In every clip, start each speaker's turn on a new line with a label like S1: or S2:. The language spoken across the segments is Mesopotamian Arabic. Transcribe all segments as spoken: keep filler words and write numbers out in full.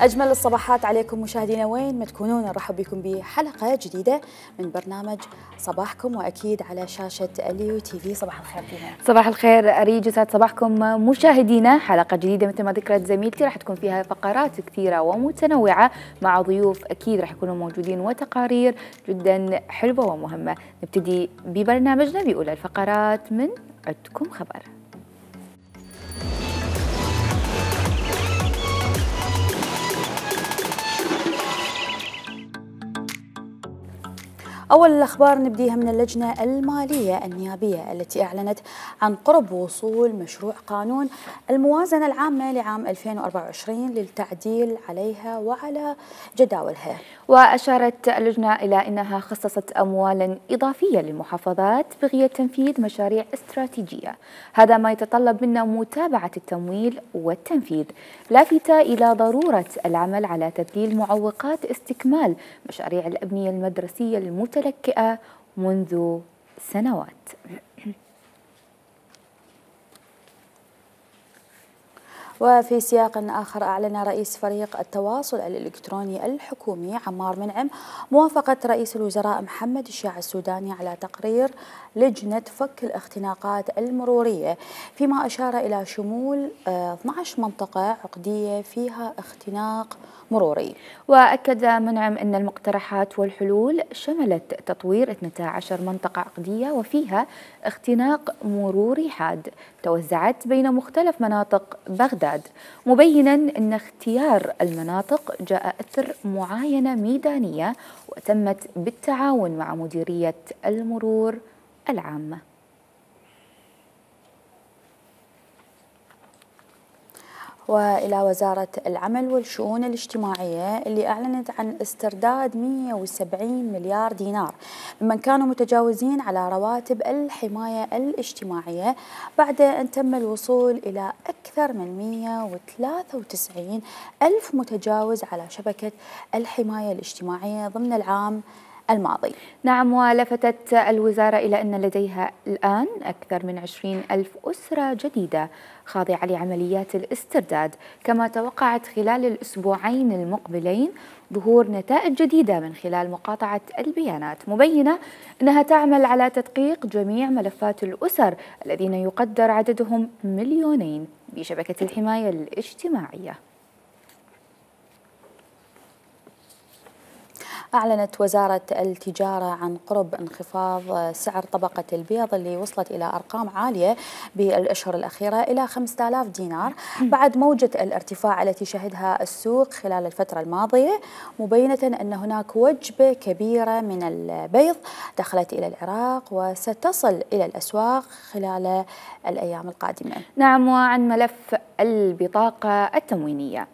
S1: أجمل الصباحات عليكم مشاهدينا وين ما تكونون، نرحب بكم بحلقة جديدة من برنامج صباحكم، وأكيد على شاشة اليو تي في. صباح الخير فيها.
S2: صباح الخير أريج، يسعد صباحكم مشاهدينا. حلقة جديدة مثل ما ذكرت زميلتي راح تكون فيها فقرات كثيرة ومتنوعة مع ضيوف أكيد راح يكونوا موجودين وتقارير جدا حلوة ومهمة. نبتدي ببرنامجنا بأولى الفقرات من عدكم خبر.
S1: أول الأخبار نبديها من اللجنة المالية النيابية التي أعلنت عن قرب وصول مشروع قانون الموازنة العامة لعام ألفين وأربعة وعشرين للتعديل عليها وعلى جداولها.
S2: وأشارت اللجنة إلى أنها خصصت أموالا إضافية للمحافظات بغية تنفيذ مشاريع استراتيجية، هذا ما يتطلب منا متابعة التمويل والتنفيذ، لافتة إلى ضرورة العمل على تذليل معوقات استكمال مشاريع الأبنية المدرسية المتلكئة منذ سنوات.
S1: وفي سياق آخر، أعلن رئيس فريق التواصل الإلكتروني الحكومي عمار منعم موافقة رئيس الوزراء محمد الشياع السوداني على تقرير لجنة فك الاختناقات المرورية، فيما أشار إلى شمول اثنعش منطقة عقدية فيها اختناق مروري.
S2: وأكد منعم أن المقترحات والحلول شملت تطوير اثنتي عشرة منطقة عقدية وفيها اختناق مروري حاد توزعت بين مختلف مناطق بغداد، مبينا أن اختيار المناطق جاء أثر معاينة ميدانية وتمت بالتعاون مع مديرية المرور العامة.
S1: وإلى وزارة العمل والشؤون الاجتماعية اللي أعلنت عن استرداد مئة وسبعين مليار دينار ممن كانوا متجاوزين على رواتب الحماية الاجتماعية بعد أن تم الوصول إلى أكثر من مئة وثلاثة وتسعين ألف متجاوز على شبكة الحماية الاجتماعية ضمن العام الماضي.
S2: نعم، ولفتت الوزارة إلى أن لديها الآن أكثر من عشرين ألف أسرة جديدة خاضعة لعمليات الاسترداد، كما توقعت خلال الأسبوعين المقبلين ظهور نتائج جديدة من خلال مقاطعة البيانات، مبينة أنها تعمل على تدقيق جميع ملفات الأسر الذين يقدر عددهم مليونين بشبكة الحماية الاجتماعية.
S1: أعلنت وزارة التجارة عن قرب انخفاض سعر طبقة البيض اللي وصلت إلى أرقام عالية بالأشهر الأخيرة إلى خمسة آلاف دينار بعد موجة الارتفاع التي شهدها السوق خلال الفترة الماضية، مبينة أن هناك وجبة كبيرة من البيض دخلت إلى العراق وستصل إلى الأسواق خلال الأيام القادمة.
S2: نعم، وعن ملف البطاقة التموينية،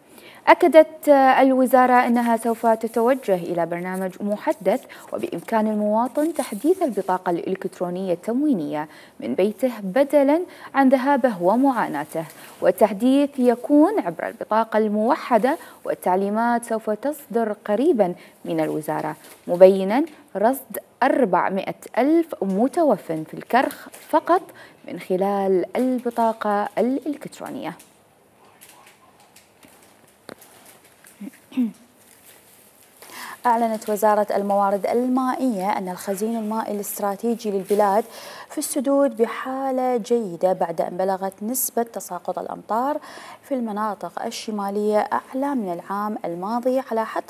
S2: أكدت الوزارة أنها سوف تتوجه إلى برنامج محدث وبإمكان المواطن تحديث البطاقة الإلكترونية التموينية من بيته بدلاً عن ذهابه ومعاناته، والتحديث يكون عبر البطاقة الموحدة، والتعليمات سوف تصدر قريباً من الوزارة، مبيناً رصد أربعمئة ألف متوفٍ في الكرخ فقط من خلال البطاقة الإلكترونية.
S1: أعلنت وزارة الموارد المائية أن الخزين المائي الاستراتيجي للبلاد في السدود بحالة جيدة بعد أن بلغت نسبة تساقط الأمطار في المناطق الشمالية أعلى من العام الماضي على حد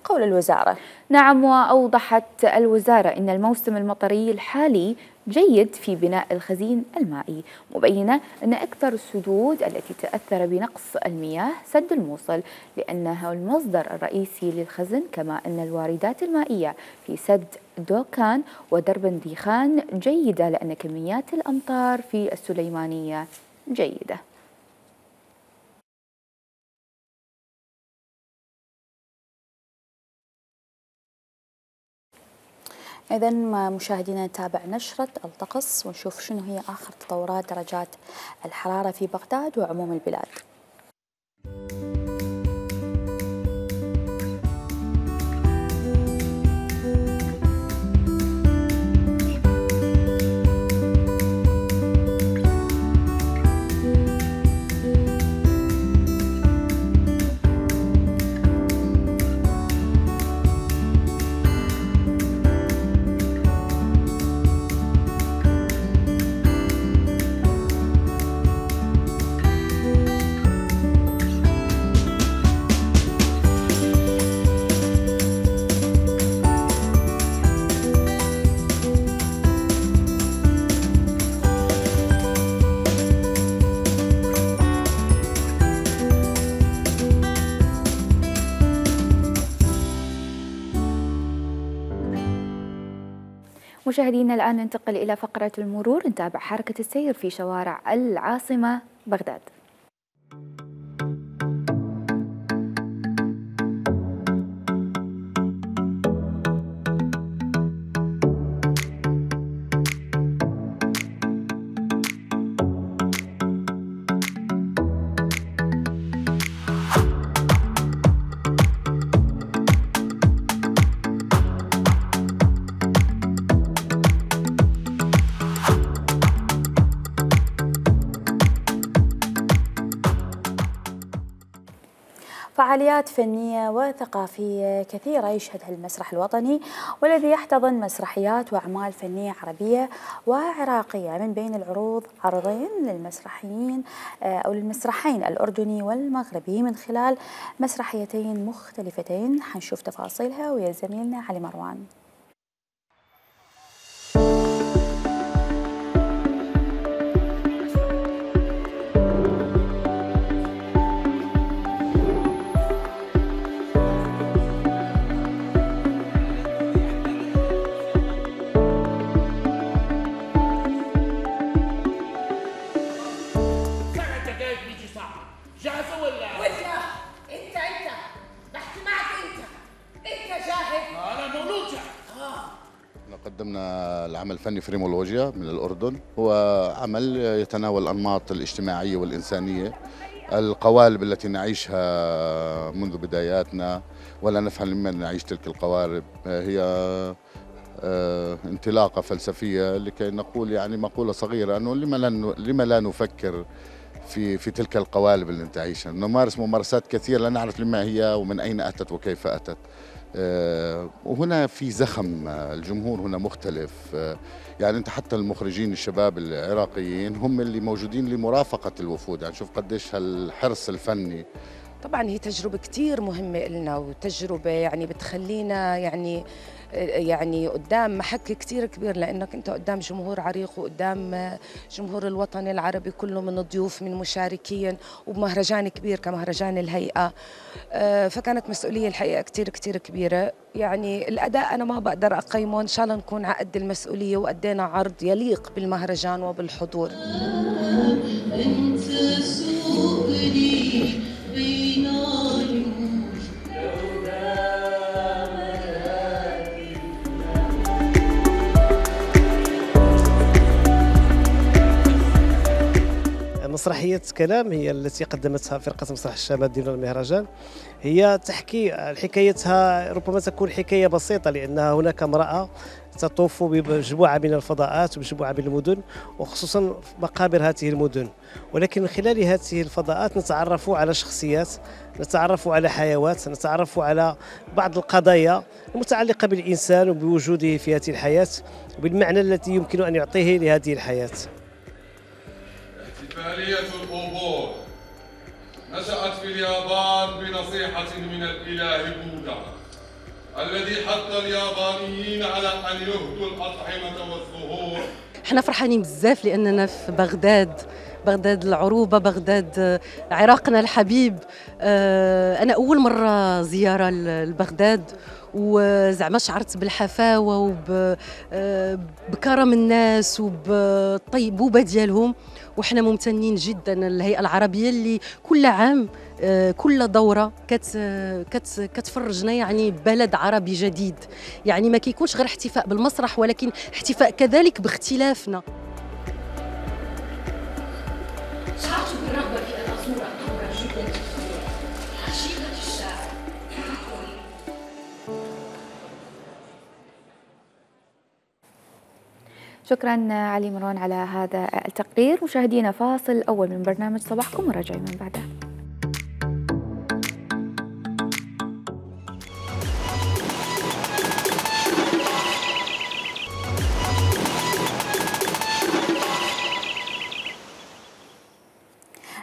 S1: قول الوزارة.
S2: نعم، وأوضحت الوزارة أن الموسم المطري الحالي جيد في بناء الخزين المائي، مبينة أن أكثر السدود التي تأثر بنقص المياه سد الموصل لأنه المصدر الرئيسي للخزن، كما أن الواردات المائية في سد دوكان ودرب ديخان جيدة لأن كميات الأمطار في السليمانية جيدة.
S1: إذا مشاهدينا نتابع نشرة الطقس ونشوف شنو هي آخر تطورات درجات الحرارة في بغداد وعموم البلاد.
S2: مشاهدينا الآن ننتقل إلى فقرة المرور، نتابع حركة السير في شوارع العاصمة بغداد.
S1: فعاليات فنية وثقافية كثيرة يشهدها المسرح الوطني، والذي يحتضن مسرحيات وأعمال فنية عربية وعراقية. من بين العروض عرضين للمسرحيين أو للمسرحين الأردني والمغربي من خلال مسرحيتين مختلفتين. حنشوف تفاصيلها ويا زميلنا علي مروان.
S3: قدمنا العمل الفني فريمولوجيا من الأردن، هو عمل يتناول الأنماط الاجتماعية والإنسانية، القوالب التي نعيشها منذ بداياتنا ولا نفهم لمن نعيش تلك القوالب. هي انطلاقة فلسفية لكي نقول يعني مقولة صغيرة أنه لما لا لما لا نفكر في في تلك القوالب اللي نعيشها، نمارس ممارسات كثيرة لا نعرف لما هي ومن أين أتت وكيف أتت. وهنا في زخم، الجمهور هنا مختلف، يعني أنت حتى المخرجين الشباب العراقيين هم اللي موجودين لمرافقة الوفود، يعني شوف قديش هالحرص الفني.
S4: طبعا هي تجربة كتير مهمة لنا، وتجربة يعني بتخلينا يعني يعني قدام محك كتير كبير، لأنك أنت قدام جمهور عريق وقدام جمهور الوطن العربي كله من ضيوف من مشاركين، وبمهرجان كبير كمهرجان الهيئة. فكانت مسؤولية الحقيقة كتير كتير كبيرة. يعني الأداء أنا ما بقدر أقيمه، إن شاء الله نكون على قد المسؤولية وأدينا عرض يليق بالمهرجان وبالحضور. أنت سؤالي بين
S5: مسرحية كلام هي التي قدمتها فرقة مسرح الشباب ضمن المهرجان. هي تحكي حكايتها، ربما تكون حكاية بسيطة لأنها هناك امرأة تطوف بمجموعة من الفضاءات ومجموعة من المدن، وخصوصا مقابر هذه المدن، ولكن من خلال هذه الفضاءات نتعرف على شخصيات، نتعرف على حيوات، نتعرف على بعض القضايا المتعلقة بالإنسان وبوجوده في هذه الحياة وبالمعنى الذي يمكن أن يعطيه لهذه الحياة.
S6: احتفالية الأوبور نشأت في اليابان بنصيحة من الإله بوذا الذي حث اليابانيين على أن يهدوا الأطعمة والزهور.
S7: احنا فرحانين بزاف لأننا في بغداد، بغداد العروبة، بغداد عراقنا الحبيب. أنا أول مرة زيارة لبغداد، وزعما شعرت بالحفاوة وبكرم الناس وبالطيبوبة ديالهم، وحنا ممتنين جدا للهيئة العربية اللي كل عام كل دورة كت كت كتفرجنا يعني بلد عربي جديد. يعني ما كيكونش غير احتفاء بالمسرح، ولكن احتفاء كذلك باختلافنا. شعرت بالرغبة في أن أزور قبر جدة حشيدة الشاعر.
S2: شكرا علي مروان على هذا التقرير. مشاهدينا فاصل أول من برنامج صباحكم وراجعين من بعدها.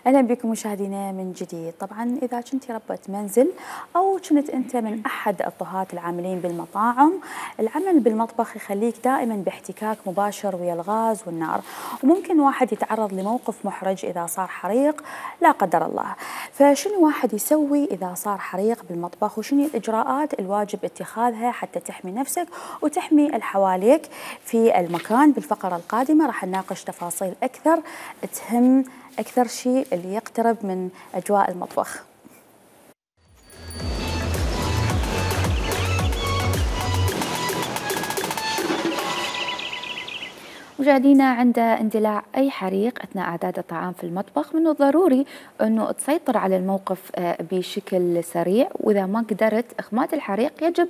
S1: اهلا بكم مشاهدينا من جديد. طبعا اذا كنت ربة منزل او كنت انت من احد الطهاة العاملين بالمطاعم، العمل بالمطبخ يخليك دائما باحتكاك مباشر ويا الغاز والنار، وممكن واحد يتعرض لموقف محرج اذا صار حريق لا قدر الله. فشنو واحد يسوي اذا صار حريق بالمطبخ، وشنو الاجراءات الواجب اتخاذها حتى تحمي نفسك وتحمي اللي حواليك في المكان؟ بالفقرة القادمة راح نناقش تفاصيل اكثر تهم أكثر شيء اللي يقترب من أجواء المطبخ.
S2: مشاهدينا، عند اندلاع أي حريق أثناء إعداد الطعام في المطبخ من الضروري أنه تسيطر على الموقف بشكل سريع، وإذا ما قدرت إخماد الحريق يجب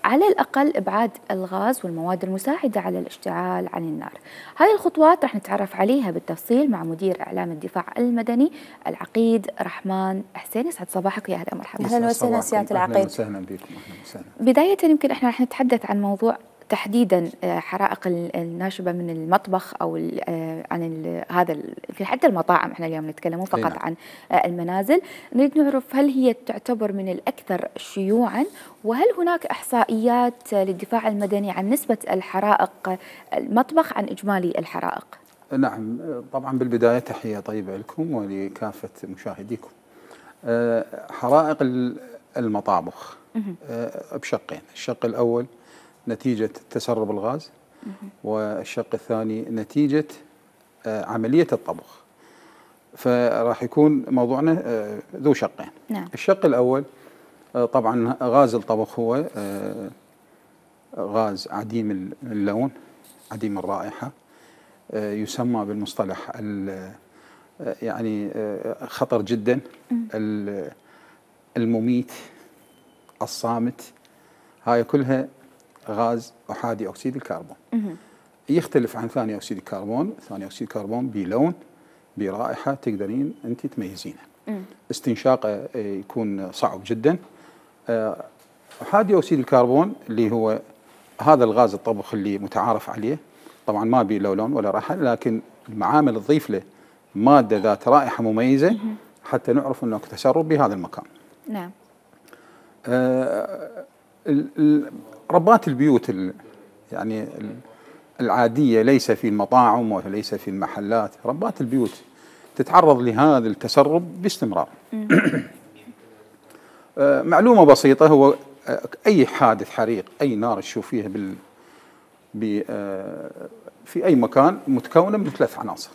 S2: على الأقل إبعاد الغاز والمواد المساعدة على الاشتعال عن النار. هاي الخطوات رح نتعرف عليها بالتفصيل مع مدير إعلام الدفاع المدني العقيد رحمن حسين. يسعد صباحك ويا أهلا ومرحبا.
S1: أهلا وسهلا سيادة العقيد.
S8: أهلا وسهلا بكم. أهلا وسهلا.
S2: بداية يمكن احنا رح نتحدث عن موضوع تحديدا حرائق الناشبه من المطبخ او عن هذا يمكن حتى المطاعم، احنا اليوم نتكلم فقط نعم. عن المنازل. نريد نعرف هل هي تعتبر من الاكثر شيوعا، وهل هناك احصائيات للدفاع المدني عن نسبه الحرائق المطبخ عن اجمالي الحرائق؟
S8: نعم طبعا. بالبدايه تحيه طيبه لكم ولكافه مشاهديكم. حرائق المطابخ بشقين، الشق الاول نتيجة تسرب الغاز، والشق الثاني نتيجة عملية الطبخ. فراح يكون موضوعنا ذو شقين.
S2: نعم.
S8: الشق الأول طبعا غاز الطبخ هو غاز عديم اللون، عديم الرائحة، يسمى بالمصطلح يعني خطر جدا، المميت، الصامت. هاي كلها غاز أحادي أكسيد الكربون. يختلف عن ثاني أكسيد الكربون. ثاني أكسيد الكربون بلون، برائحة تقدرين أنت تميزينها. استنشاقه يكون صعب جدا. أحادي أكسيد الكربون اللي هو هذا الغاز الطبخ اللي متعارف عليه، طبعا ما بيه لا لون ولا رائحة، لكن المعامل تضيف له مادة ذات رائحة مميزة حتى نعرف أنه تسرب بهذا المكان.
S2: نعم.
S8: آه ربات البيوت يعني العادية، ليس في المطاعم وليس في المحلات، ربات البيوت تتعرض لهذا التسرب باستمرار. معلومة بسيطة، هو أي حادث حريق، أي نار تشوفيها بال في أي مكان متكونة من ثلاث عناصر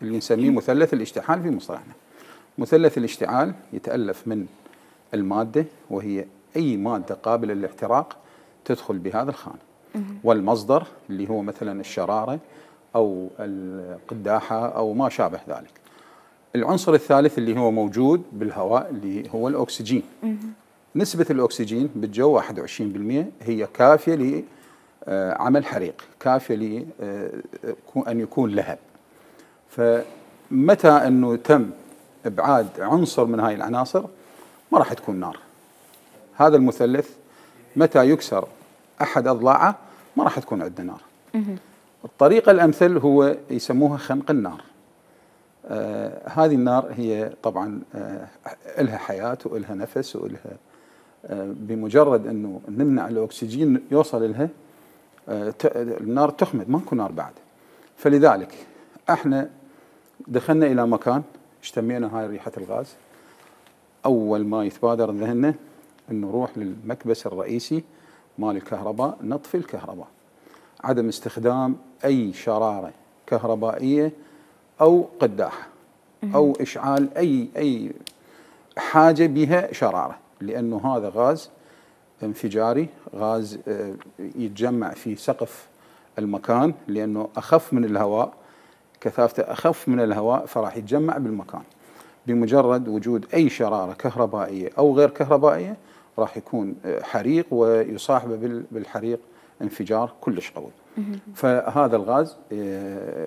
S8: اللي نسميه مثلث الاشتعال في مصطلحنا. مثلث الاشتعال يتألف من المادة، وهي أي مادة قابلة للاحتراق تدخل بهذا الخانة، والمصدر اللي هو مثلا الشرارة أو القداحة أو ما شابه ذلك. العنصر الثالث اللي هو موجود بالهواء اللي هو الأكسجين. نسبة الأكسجين بالجو واحد وعشرين بالمئة، هي كافية لعمل حريق، كافية لأن يكون لهب. فمتى أنه تم إبعاد عنصر من هاي العناصر ما راح تكون نار. هذا المثلث متى يكسر أحد أضلاعه ما راح تكون عندنا نار. الطريقة الأمثل هو يسموها خنق النار. آه هذه النار هي طبعا آه إلها حياة وإلها نفس وإلها آه بمجرد أنه نمنع الأكسجين يوصل لها آه النار تخمد، ما تكون نار بعد. فلذلك احنا دخلنا إلى مكان اشتمينا هاي ريحة الغاز، أول ما يتبادر ذهننا أنه نروح للمكبس الرئيسي مال الكهرباء، نطفي الكهرباء، عدم استخدام أي شرارة كهربائية أو قداحة أو إشعال أي أي حاجة بها شرارة، لأنه هذا غاز انفجاري، غاز يتجمع في سقف المكان، لأنه أخف من الهواء، كثافته أخف من الهواء، فراح يتجمع بالمكان. بمجرد وجود أي شرارة كهربائية أو غير كهربائية راح يكون حريق، ويصاحبه بالحريق انفجار كلش قوي. فهذا الغاز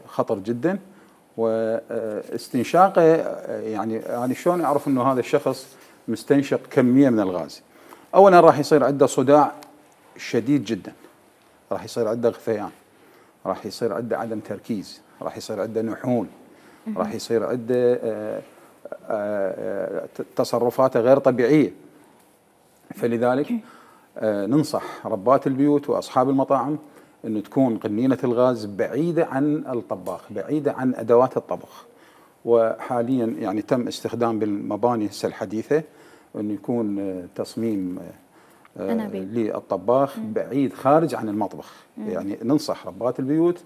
S8: خطر جدا، واستنشاقه يعني يعني شلون اعرف انه هذا الشخص مستنشق كميه من الغاز؟ اولا راح يصير عنده صداع شديد جدا، راح يصير عنده غثيان، راح يصير عنده عدم تركيز، راح يصير عنده نحول، راح يصير عنده تصرفاته غير طبيعية. فلذلك ننصح ربات البيوت وأصحاب المطاعم أنه تكون قنينة الغاز بعيدة عن الطباخ، بعيدة عن أدوات الطبخ. وحاليا يعني تم استخدام بالمباني هسه الحديثة أنه يكون تصميم للطباخ بعيد خارج عن المطبخ. يعني ننصح ربات البيوت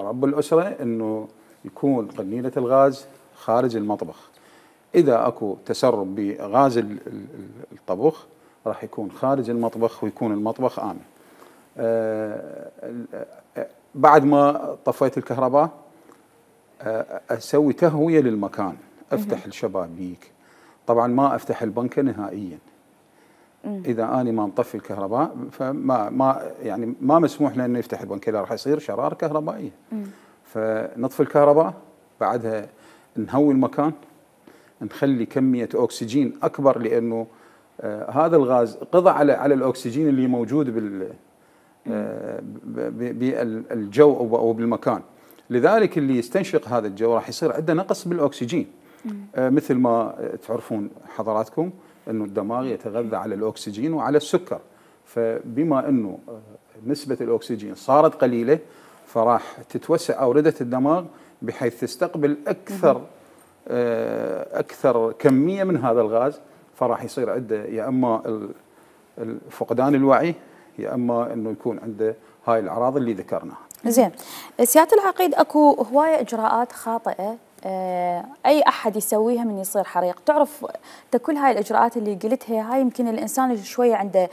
S8: رب الأسرة أنه يكون قنينة الغاز خارج المطبخ. إذا أكو تسرب بغاز الطبخ راح يكون خارج المطبخ ويكون المطبخ آمن. بعد ما طفيت الكهرباء أسوي تهوية للمكان، أفتح الشبابيك، طبعا ما أفتح البنكة نهائيا. إذا أنا ما مطفي الكهرباء فما ما يعني ما مسموح له إنه يفتح البنكة، راح يصير شرارة كهربائية. فنطفي الكهرباء، بعدها نهوي المكان، نخلي كمية أكسجين أكبر، لأنه آه هذا الغاز قضى على على الأكسجين اللي موجود بال آه بالجو أو بالمكان. لذلك اللي يستنشق هذا الجو راح يصير عنده نقص بالأكسجين. آه مثل ما تعرفون حضراتكم أنه الدماغ يتغذى على الأكسجين وعلى السكر، فبما أنه نسبة الأكسجين صارت قليلة فراح تتوسع أوردة الدماغ بحيث تستقبل أكثر أكثر كمية من هذا الغاز، فراح يصير عنده يا أما فقدان الوعي يا أما أنه يكون عنده هاي الأعراض اللي ذكرناها.
S1: زين، سيادة العقيد أكو هواية إجراءات خاطئة أي أحد يسويها من يصير حريق. تعرف كل هاي الإجراءات اللي قلتها هاي يمكن الإنسان شوية عنده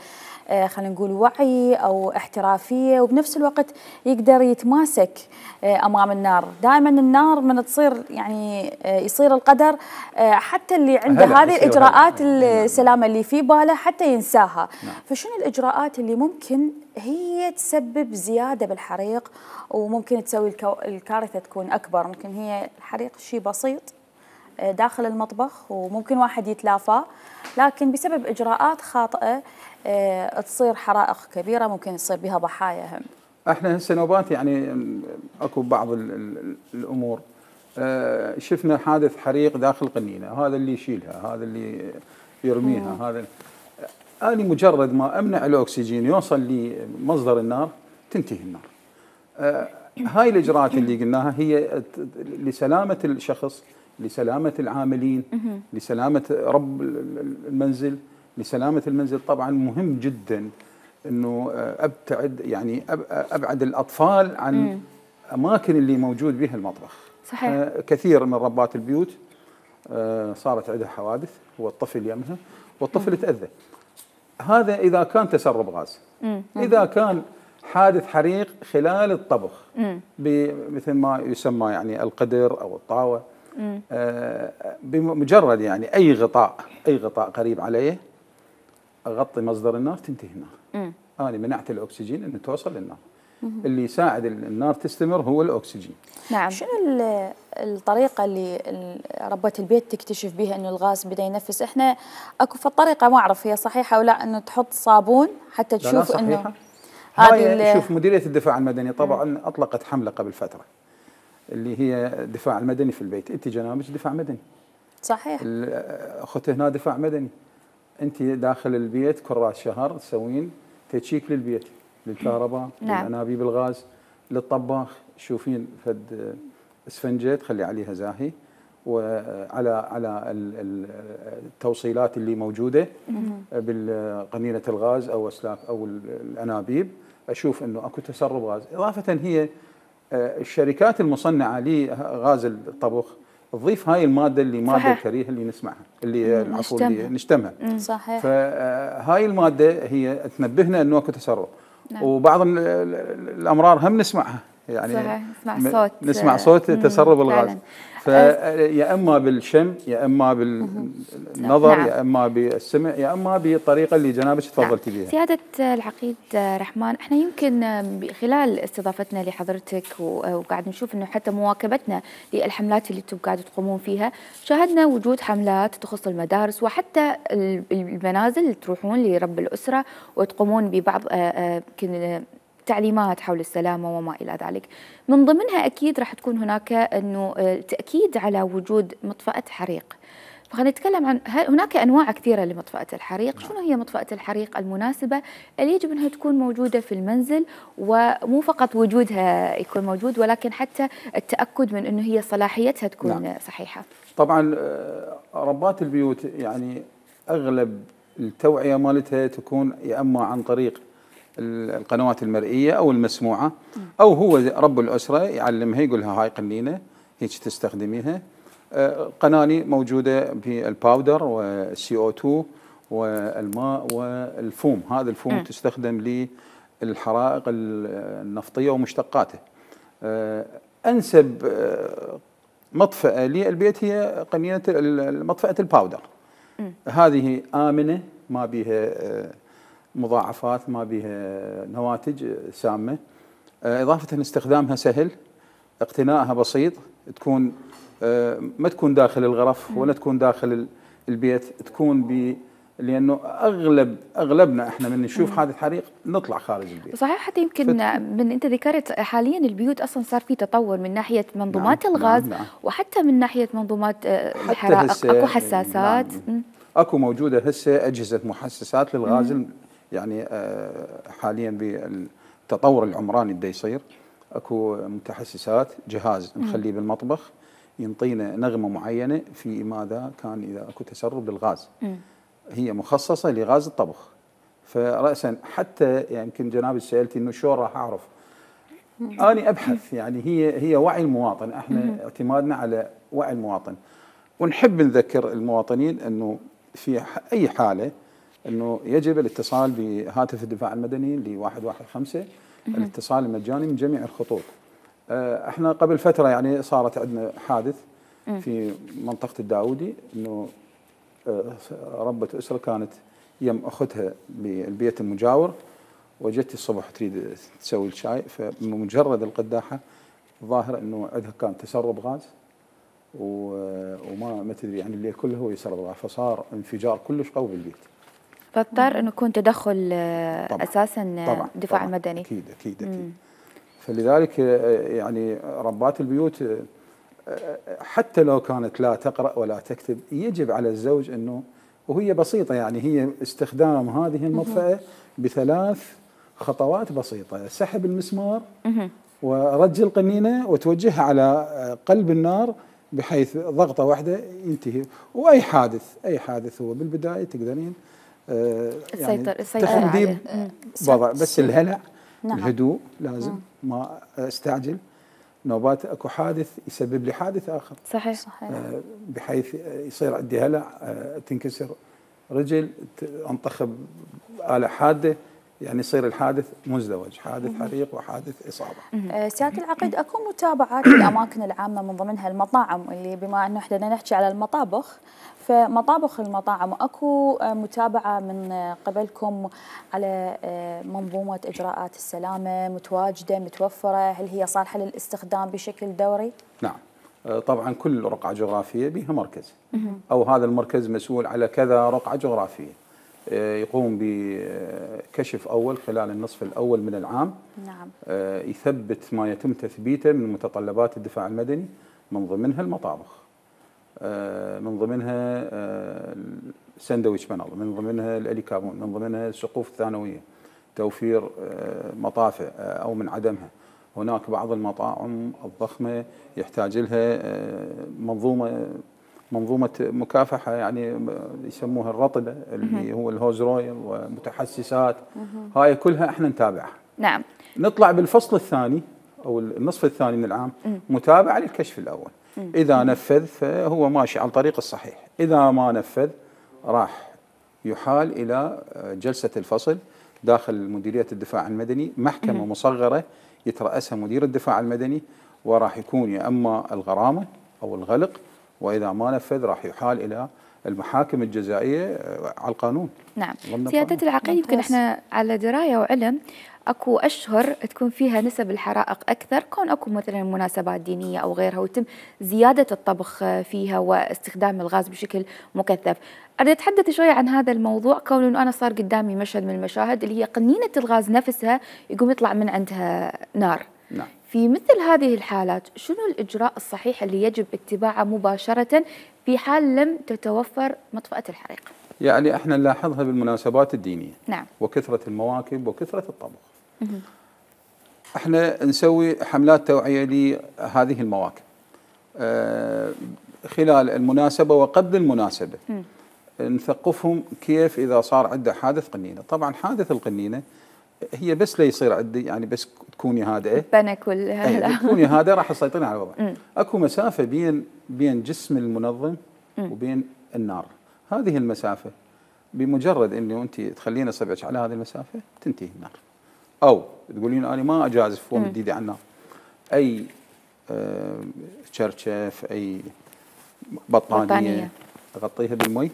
S1: خلينا نقول وعي أو احترافية، وبنفس الوقت يقدر يتماسك أمام النار. دائما النار من تصير يعني يصير القدر حتى اللي عنده هذه الإجراءات السلامة اللي في باله حتى ينساها. نعم. فشنو الإجراءات اللي ممكن هي تسبب زيادة بالحريق وممكن تسوي الكارثة تكون أكبر؟ ممكن هي الحريق شيء بسيط داخل المطبخ وممكن واحد يتلافاه، لكن بسبب إجراءات خاطئة تصير حرائق كبيرة ممكن تصير بها ضحايا هم.
S8: احنا هسه نوبات يعني اكو بعض الامور. شفنا حادث حريق داخل قنينة، هذا اللي يشيلها، هذا اللي يرميها، مم. هذا أنا مجرد ما أمنع الأكسجين يوصل لمصدر النار تنتهي النار. آه هاي الإجراءات اللي قلناها هي لسلامة الشخص، لسلامة العاملين، لسلامة رب المنزل، لسلامة المنزل. طبعا مهم جدا أنه أبتعد يعني أبعد الأطفال عن مم. أماكن اللي موجود بها المطبخ.
S2: صحيح.
S8: آه كثير من ربات البيوت آه صارت عندها حوادث والطفل يمها والطفل تأذى. هذا إذا كان تسرب غاز. مم. إذا كان حادث حريق خلال الطبخ مثل ما يسمى يعني القدر أو الطاوة، آه بمجرد يعني أي غطاء أي غطاء قريب عليه أغطي مصدر النار تنتهي النار. أنا منعت الأكسجين أنه توصل للنار. مم. اللي يساعد النار تستمر هو الأكسجين.
S1: نعم. شنو الطريقة اللي ربة البيت تكتشف بها أنه الغاز بدأ ينفس؟ إحنا أكو في الطريقة ما أعرف هي صحيحة ولا، أنه تحط صابون حتى تشوف
S8: لا
S1: أنه
S8: هذه. شوف مديرية الدفاع المدني طبعا مم. أطلقت حملة قبل فترة اللي هي الدفاع المدني في البيت. أنت جنابك دفاع مدني.
S1: صحيح.
S8: أخذت هنا دفاع مدني. أنت داخل البيت كل راس شهر تسوين تشيك للبيت، للكهرباء، نعم. للأنابيب الغاز، للطباخ. شوفين فد اسفنجة تخلي عليها زاهي وعلى على التوصيلات اللي موجودة بالقنينة الغاز أو أسلاك أو الأنابيب، أشوف أنه أكو تسرب غاز. إضافة هي الشركات المصنعة لغاز الطبخ تضيف هاي المادة اللي مادة الكريهة اللي نسمعها اللي العفو اللي نشتمها.
S1: صحيح.
S8: فهاي المادة هي تنبهنا أنه أكو تسرب. نعم. وبعض الأمرار هم نسمعها يعني
S2: صحيح. نسمع صوت
S8: نسمع صوت تسرب الغاز، فيا اما بالشم يا اما بالنظر نعم. يا اما بالسمع يا اما بالطريقه اللي جنابك تفضلتي بها.
S2: سياده العقيد رحمن، احنا يمكن خلال استضافتنا لحضرتك وقاعد نشوف انه حتى مواكبتنا للحملات اللي انتم قاعدوا تقومون فيها، شاهدنا وجود حملات تخص المدارس وحتى المنازل اللي تروحون لرب الاسره وتقومون ببعض يمكن تعليمات حول السلامة وما إلى ذلك. من ضمنها أكيد راح تكون هناك أنه تأكيد على وجود مطفأة حريق. فخلينا نتكلم عن هناك أنواع كثيرة لمطفأة الحريق. شنو هي مطفأة الحريق المناسبة اللي يجب أنها تكون موجودة في المنزل، ومو فقط وجودها يكون موجود ولكن حتى التأكد من أنه هي صلاحيتها تكون نعم. صحيحة.
S8: طبعا ربات البيوت يعني أغلب التوعية مالتها تكون يا اما عن طريق القنوات المرئيه او المسموعه، او هو رب الاسره يعلمها يقول لها هاي قنينه هيك تستخدميها. قناني موجوده بالباودر والسي او اثنين والماء والفوم، هذا الفوم م. تستخدم للحرائق النفطيه ومشتقاته. انسب مطفأة للبيت هي قنينه مطفأة الباودر. م. هذه آمنة، ما بها مضاعفات، ما بها نواتج سامة، إضافة استخدامها سهل، اقتنائها بسيط، تكون ما تكون داخل الغرف ولا تكون داخل البيت، تكون ب لانه اغلب اغلبنا احنا من نشوف حادث حريق نطلع خارج البيت.
S2: صحيح، حتى يمكن فت... من انت ذكرت حاليا البيوت اصلا صار في تطور من ناحيه منظومات نعم الغاز، نعم نعم. وحتى من ناحيه منظومات الحرائق اكو حساسات. نعم.
S8: اكو موجوده هسه اجهزه محسسات للغاز. مم. يعني حاليا بالتطور العمراني بده يصير اكو متحسسات، جهاز نخليه بالمطبخ ينطينا نغمه معينه في ماذا كان اذا اكو تسرب للغاز. مم. هي مخصصه لغاز الطبخ. فراسا حتى يعني يمكن جناب سالتي انه شلون راح اعرف؟ اني ابحث، يعني هي هي وعي المواطن، احنا مم. اعتمادنا على وعي المواطن، ونحب نذكر المواطنين انه في اي حاله انه يجب الاتصال بهاتف الدفاع المدني ل واحد واحد خمسة، الاتصال المجاني من جميع الخطوط. احنا قبل فتره يعني صارت عندنا حادث في منطقه الداودي، انه ربة اسره كانت يم اختها بالبيت المجاور، وجت الصبح تريد تسوي الشاي، فمجرد القداحه ظاهر انه عندها كان تسرب غاز وما ما تدري يعني الليل كله هو يسرب غاز، فصار انفجار كلش قوي بالبيت.
S2: فاضطر انه يكون تدخل طبعًا اساسا
S8: طبعًا
S2: الدفاع
S8: طبعًا
S2: المدني.
S8: اكيد اكيد اكيد. مم. فلذلك يعني ربات البيوت حتى لو كانت لا تقرأ ولا تكتب، يجب على الزوج انه، وهي بسيطه يعني هي استخدام هذه المطفأة بثلاث خطوات بسيطه: سحب المسمار ورج القنينه وتوجهها على قلب النار بحيث ضغطه واحده ينتهي. واي حادث اي حادث هو بالبدايه تقدرين آه يعني تخلديه بوضع، بس الهلع نعم. الهدوء لازم مم. ما استعجل. نوبات اكو حادث يسبب لي حادث اخر.
S2: صحيح صحيح.
S8: آه بحيث يصير عندي هلع، آه تنكسر رجل، انطخب آلة حاده، يعني يصير الحادث مزدوج، حادث حريق وحادث إصابة.
S1: سيادة العقيد، أكو متابعات للأماكن العامة من ضمنها المطاعم، اللي بما أنه احنا نحكي على المطابخ، فمطابخ المطاعم أكو متابعة من قبلكم على منظومة إجراءات السلامة متواجدة متوفرة؟ هل هي صالحة للاستخدام بشكل دوري؟
S8: نعم طبعا، كل رقعة جغرافية بها مركز، أو هذا المركز مسؤول على كذا رقعة جغرافية، يقوم بكشف أول خلال النصف الأول من العام.
S1: نعم.
S8: يثبت ما يتم تثبيته من متطلبات الدفاع المدني، من ضمنها المطابخ، من ضمنها الساندويتش بانل، من ضمنها الاليكابون، من ضمنها السقوف الثانوية، توفير مطافئ أو من عدمها. هناك بعض المطاعم الضخمة يحتاج لها منظومة منظومة مكافحة، يعني يسموها الرطبة اللي هو الهوز رويل ومتحسسات. هاي كلها احنا نتابعها.
S2: نعم.
S8: نطلع بالفصل الثاني او النصف الثاني من العام متابعة للكشف الأول. إذا نفذ فهو ماشي على الطريق الصحيح، إذا ما نفذ راح يحال إلى جلسة الفصل داخل مديرية الدفاع المدني، محكمة مصغرة يترأسها مدير الدفاع المدني، وراح يكون يا أما الغرامة أو الغلق، وإذا ما نفذ راح يحال إلى المحاكم الجزائيه على القانون.
S2: نعم.
S8: ضمن
S2: سيادة
S8: القانون.
S2: العقيد، يمكن احنا على درايه وعلم اكو اشهر تكون فيها نسب الحرائق اكثر، كون اكو مثلا مناسبات دينيه او غيرها ويتم زياده الطبخ فيها واستخدام الغاز بشكل مكثف. اريد اتحدث شويه عن هذا الموضوع، كون انه انا صار قدامي مشهد من المشاهد اللي هي قنينه الغاز نفسها يقوم يطلع من عندها نار.
S8: نعم.
S2: في مثل هذه الحالات شنو الاجراء الصحيح اللي يجب اتباعه مباشره في حال لم تتوفر مطفأة الحريق؟
S8: يعني احنا نلاحظها بالمناسبات الدينيه.
S2: نعم.
S8: وكثره المواكب وكثره الطبخ. احنا نسوي حملات توعيه لهذه المواكب آه خلال المناسبه وقبل المناسبه. م. نثقفهم كيف اذا صار عنده حادث قنينه. طبعا حادث القنينه هي بس لا يصير عندي يعني بس تكوني هادئه
S2: بنك ولا
S8: تكوني هادئه راح تسيطرين على الوضع. اكو مسافه بين بين جسم المنظم م. وبين النار. هذه المسافه بمجرد انه انت تخلين اصبعك على هذه المسافه تنتهي النار. او تقولين انا ما اجازف وامد ايدي على النار. اي آه شرشف اي بطانيه, بطانية. اغطيها بالمي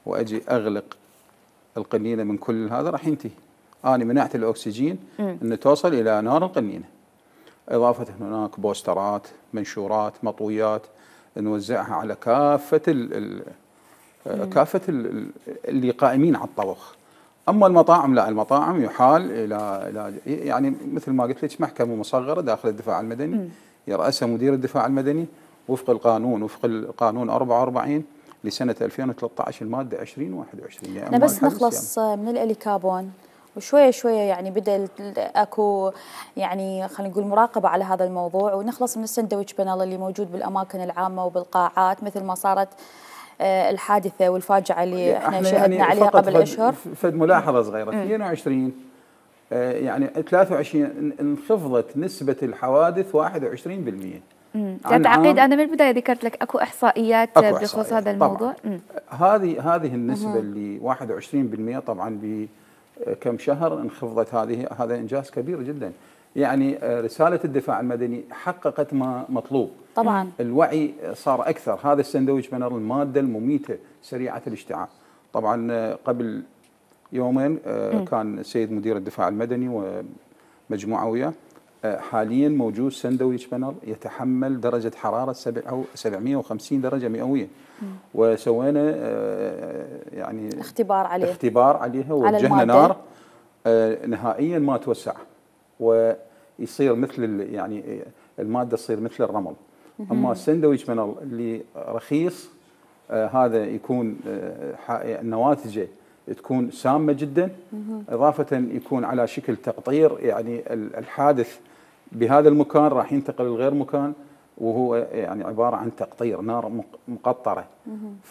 S8: واجي اغلق القنينه من كل هذا راح ينتهي. انا منعت الاكسجين انه توصل الى نار القنينه. اضافه هناك بوسترات، منشورات، مطويات نوزعها على كافه ال ال كافه ال اللي قائمين على الطبخ. اما المطاعم لا، المطاعم يحال الى الى يعني مثل ما قلت لك محكمه مصغره داخل الدفاع المدني يرأسها مدير الدفاع المدني وفق القانون وفق القانون أربعة وأربعين لسنه ألفين وثلاثة عشر الماده عشرين وواحد وعشرين.
S1: يعني بس نخلص يعني من الاليكابون وشويه شويه يعني بدا اكو يعني خلينا نقول مراقبه على هذا الموضوع، ونخلص من السندويتش بانل اللي موجود بالاماكن العامه وبالقاعات مثل ما صارت الحادثه والفاجعه اللي احنا, احنا شهدنا يعني عليها قبل اشهر.
S8: فد ملاحظه صغيره اثنين وعشرين يعني ثلاثة وعشرين انخفضت نسبه الحوادث واحد وعشرين بالمئة.
S2: سيادة عقيد انا من البدايه ذكرت لك اكو احصائيات
S8: أكو
S2: بخصوص
S8: إحصائيات.
S2: هذا الموضوع.
S8: هذه هذه النسبه اللي واحد وعشرين بالمئة طبعا بكم شهر انخفضت. هذه هذا انجاز كبير جدا. يعني رساله الدفاع المدني حققت ما مطلوب.
S1: طبعا
S8: الوعي صار اكثر. هذا السندويتش بانر الماده المميته سريعه الاشتعال. طبعا قبل يومين كان السيد مدير الدفاع المدني ومجموعه وياه حاليا موجود سندويتش بانر يتحمل درجه حراره سبعمئة وخمسين درجه مئويه. وسوينا يعني
S1: اختبار عليه
S8: اختبار عليها ووجهنا نار نهائيا ما توسع ويصير مثل يعني الماده تصير مثل الرمل. اما السندويتش بانر اللي رخيص آه هذا يكون آه نواتجه تكون سامه جدا. اضافه يكون على شكل تقطير، يعني الحادث بهذا المكان راح ينتقل لغير مكان وهو يعني عباره عن تقطير نار مقطره.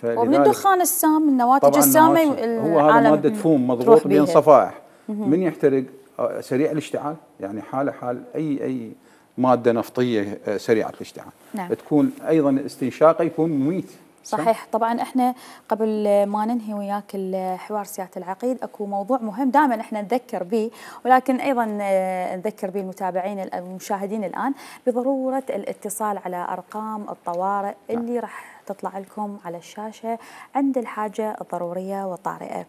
S1: ومن الدخان السام النواتج السامه
S8: هو هذا ماده تفوم مضغوط بين صفائح من يحترق سريع الاشتعال، يعني حاله حال اي اي ماده نفطيه سريعه الاشتعال.
S1: نعم.
S8: تكون ايضا استنشاقه يكون مميت.
S1: صحيح. طبعا احنا قبل ما ننهي وياك الحوار سياده العقيد اكو موضوع مهم دائما احنا نذكر به، ولكن ايضا نذكر به المتابعين المشاهدين الان بضروره الاتصال على ارقام الطوارئ اللي راح تطلع لكم على الشاشه عند الحاجه الضروريه والطارئه.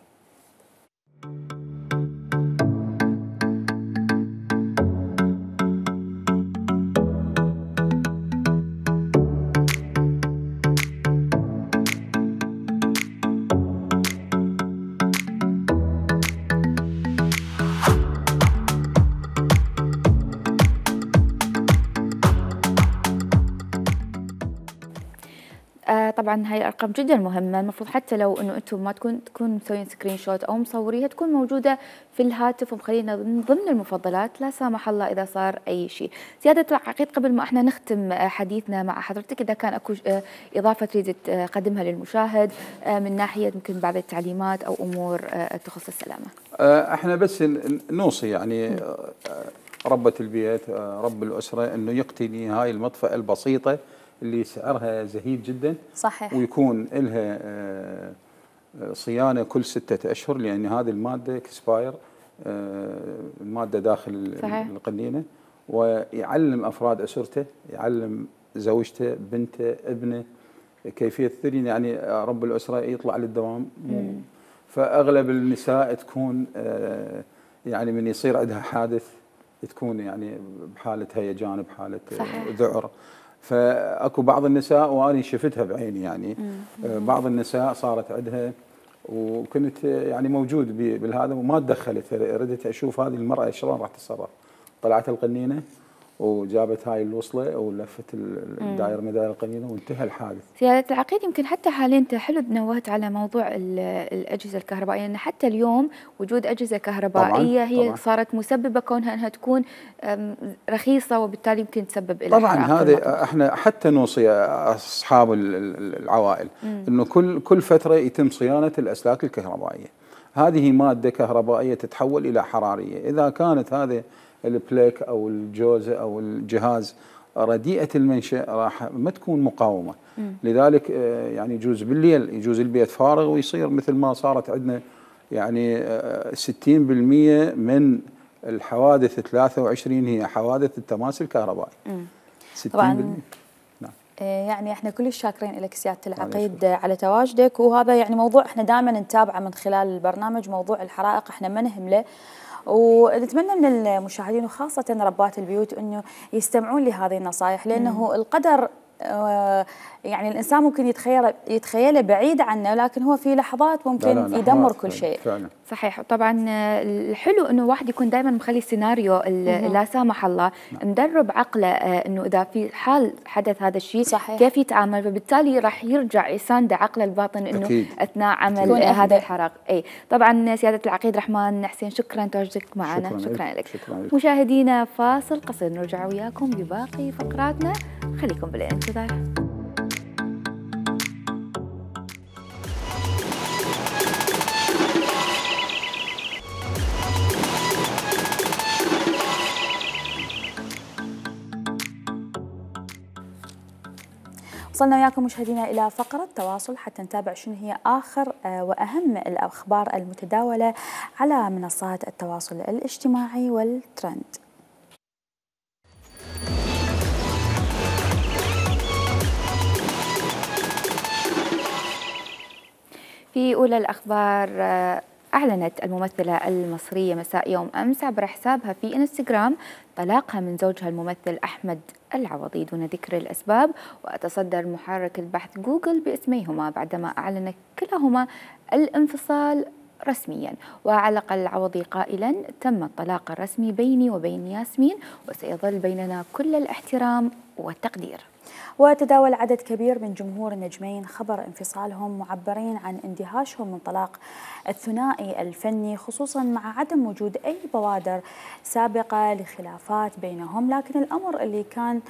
S2: طبعا هاي الارقام جدا مهمه، المفروض حتى لو انه انتم ما تكون تكون مسوين سكرين شوت او مصوريها تكون موجوده في الهاتف ومخلينا من ضمن المفضلات لا سامح الله اذا صار اي شيء. سياده العقيد قبل ما احنا نختم حديثنا مع حضرتك اذا كان اكو اضافه تريد تقدمها للمشاهد من ناحيه يمكن بعض التعليمات او امور تخص السلامه.
S8: احنا بس نوصي يعني ربة البيت رب الاسره انه يقتني هاي المطفأة البسيطه اللي سعرها زهيد جدا.
S1: صحيح.
S8: ويكون لها صيانه كل ستة اشهر لان هذه الماده اكسباير الماده داخل صحيح. القنينه. ويعلم افراد اسرته، يعلم زوجته، بنته، ابنه، كيفيه ثرين يعني رب الاسره يطلع للدوام، فاغلب النساء تكون يعني من يصير عندها حادث تكون يعني بحاله هيجان، بحاله صحيح. ذعر. فاكو بعض النساء وانا شفتها بعيني يعني مم. بعض النساء صارت عندها وكنت يعني موجود بالهذا وما تدخلت، ردت اشوف هذه المراه شلون راح تتصرف. طلعت القنينه وجابت هاي الوصله ولفت الدائره من دائره القنينه وانتهى الحادث.
S2: سيادة العقيد يمكن حتى حاليا انت حلو نوهت على موضوع الاجهزه الكهربائيه، ان حتى اليوم وجود اجهزه كهربائيه طبعاً هي طبعاً صارت مسببه كونها انها تكون رخيصه وبالتالي يمكن تسبب الى
S8: طبعا هذا احنا حتى نوصي اصحاب العوائل مم. انه كل كل فتره يتم صيانه الاسلاك الكهربائيه. هذه ماده كهربائيه تتحول الى حراريه، اذا كانت هذه البليك او الجوزه او الجهاز رديئه المنشا راح ما تكون مقاومه. مم. لذلك يعني يجوز بالليل يجوز البيت فارغ ويصير مثل ما صارت عندنا يعني ستين بالمئة من الحوادث ثلاثة وعشرين هي حوادث التماس الكهربائي.
S1: ستين بالمئة. نعم. يعني احنا كلش شاكرين لك سياده العقيد على تواجدك، وهذا يعني موضوع احنا دائما نتابعه من خلال البرنامج، موضوع الحرائق احنا ما نهمله، ونتمنى من المشاهدين وخاصة ربات البيوت أنه يستمعون لهذه النصائح، لأنه مم. القدر يعني الإنسان ممكن يتخيل يتخيله بعيد عنه، لكن هو في لحظات ممكن لا لا يدمر كل شيء. فعلا.
S2: صحيح. طبعا الحلو انه واحد يكون دائما مخلي سيناريو لا سامح الله نعم. مدرب عقله انه اذا في حال حدث هذا الشيء كيف يتعامل، فبالتالي راح يرجع يساند عقله الباطن انه أكيد. اثناء عمل هذا الحرق. اي طبعا سياده العقيد رحمن حسين شكرا تواجدك معنا. شكرا, شكرا لك. شكرا لك. مشاهدينا فاصل قصير نرجع وياكم بباقي فقراتنا، خليكم بالانتظار.
S1: وصلنا وياكم مشاهدينا إلى فقرة تواصل حتى نتابع شنو هي آخر وأهم الأخبار المتداولة على منصات التواصل الاجتماعي والترند.
S2: في أولى الأخبار، أعلنت الممثلة المصرية مساء يوم أمس عبر حسابها في إنستغرام طلاقها من زوجها الممثل أحمد العوضي دون ذكر الأسباب، وتصدر محرك البحث جوجل باسميهما بعدما أعلن كلاهما الانفصال رسميا. وعلق العوضي قائلا: تم الطلاق الرسمي بيني وبين ياسمين وسيظل بيننا كل الاحترام والتقدير.
S1: وتداول عدد كبير من جمهور النجمين خبر انفصالهم، معبرين عن اندهاشهم من طلاق الثنائي الفني، خصوصا مع عدم وجود أي بوادر سابقة لخلافات بينهم. لكن الأمر اللي كان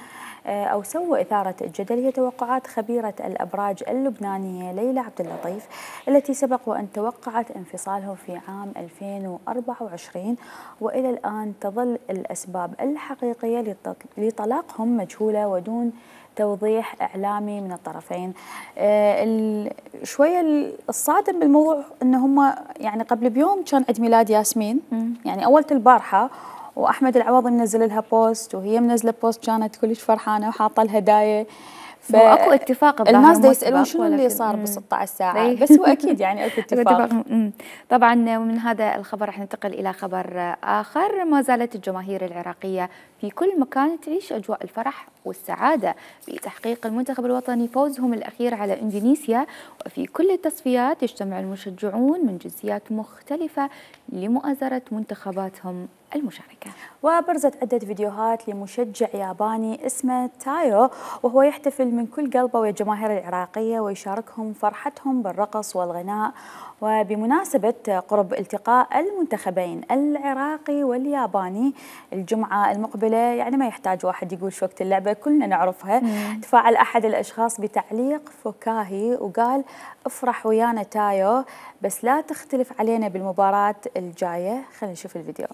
S1: أو سوى إثارة الجدل هي توقعات خبيرة الأبراج اللبنانية ليلى عبد اللطيف، التي سبق وأن توقعت انفصالهم في عام ألفين وأربعة وعشرين، وإلى الآن تظل الأسباب الحقيقية لطلاقهم مجهولة ودون توضيح إعلامي من الطرفين. آه شوية الصادم بالموضوع أن هم يعني قبل بيوم كان عيد ميلاد ياسمين، يعني أولة البارحة، وأحمد العوضي منزل لها بوست وهي منزلة بوست كانت كلش فرحانة وحاطة لها هدايا.
S2: فاكو اتفاق
S1: الناس دا يسالون شنو اللي صار ب ستة عشر ساعه، بس هو اكيد يعني اكو اتفاق.
S2: طبعا ومن هذا الخبر رح ننتقل الى خبر اخر. ما زالت الجماهير العراقيه في كل مكان تعيش اجواء الفرح والسعاده بتحقيق المنتخب الوطني فوزهم الاخير على اندونيسيا، وفي كل التصفيات يجتمع المشجعون من جنسيات مختلفه لمؤازره منتخباتهم المشاركة.
S1: وبرزت عدة فيديوهات لمشجع ياباني اسمه تايو، وهو يحتفل من كل قلبه ويا الجماهير العراقية ويشاركهم فرحتهم بالرقص والغناء. وبمناسبة قرب التقاء المنتخبين العراقي والياباني الجمعة المقبلة، يعني ما يحتاج واحد يقول شو وقت اللعبة كلنا نعرفها، مم. تفاعل أحد الأشخاص بتعليق فكاهي وقال: افرح ويانا تايو بس لا تختلف علينا بالمباراة الجاية. خلينا نشوف الفيديو.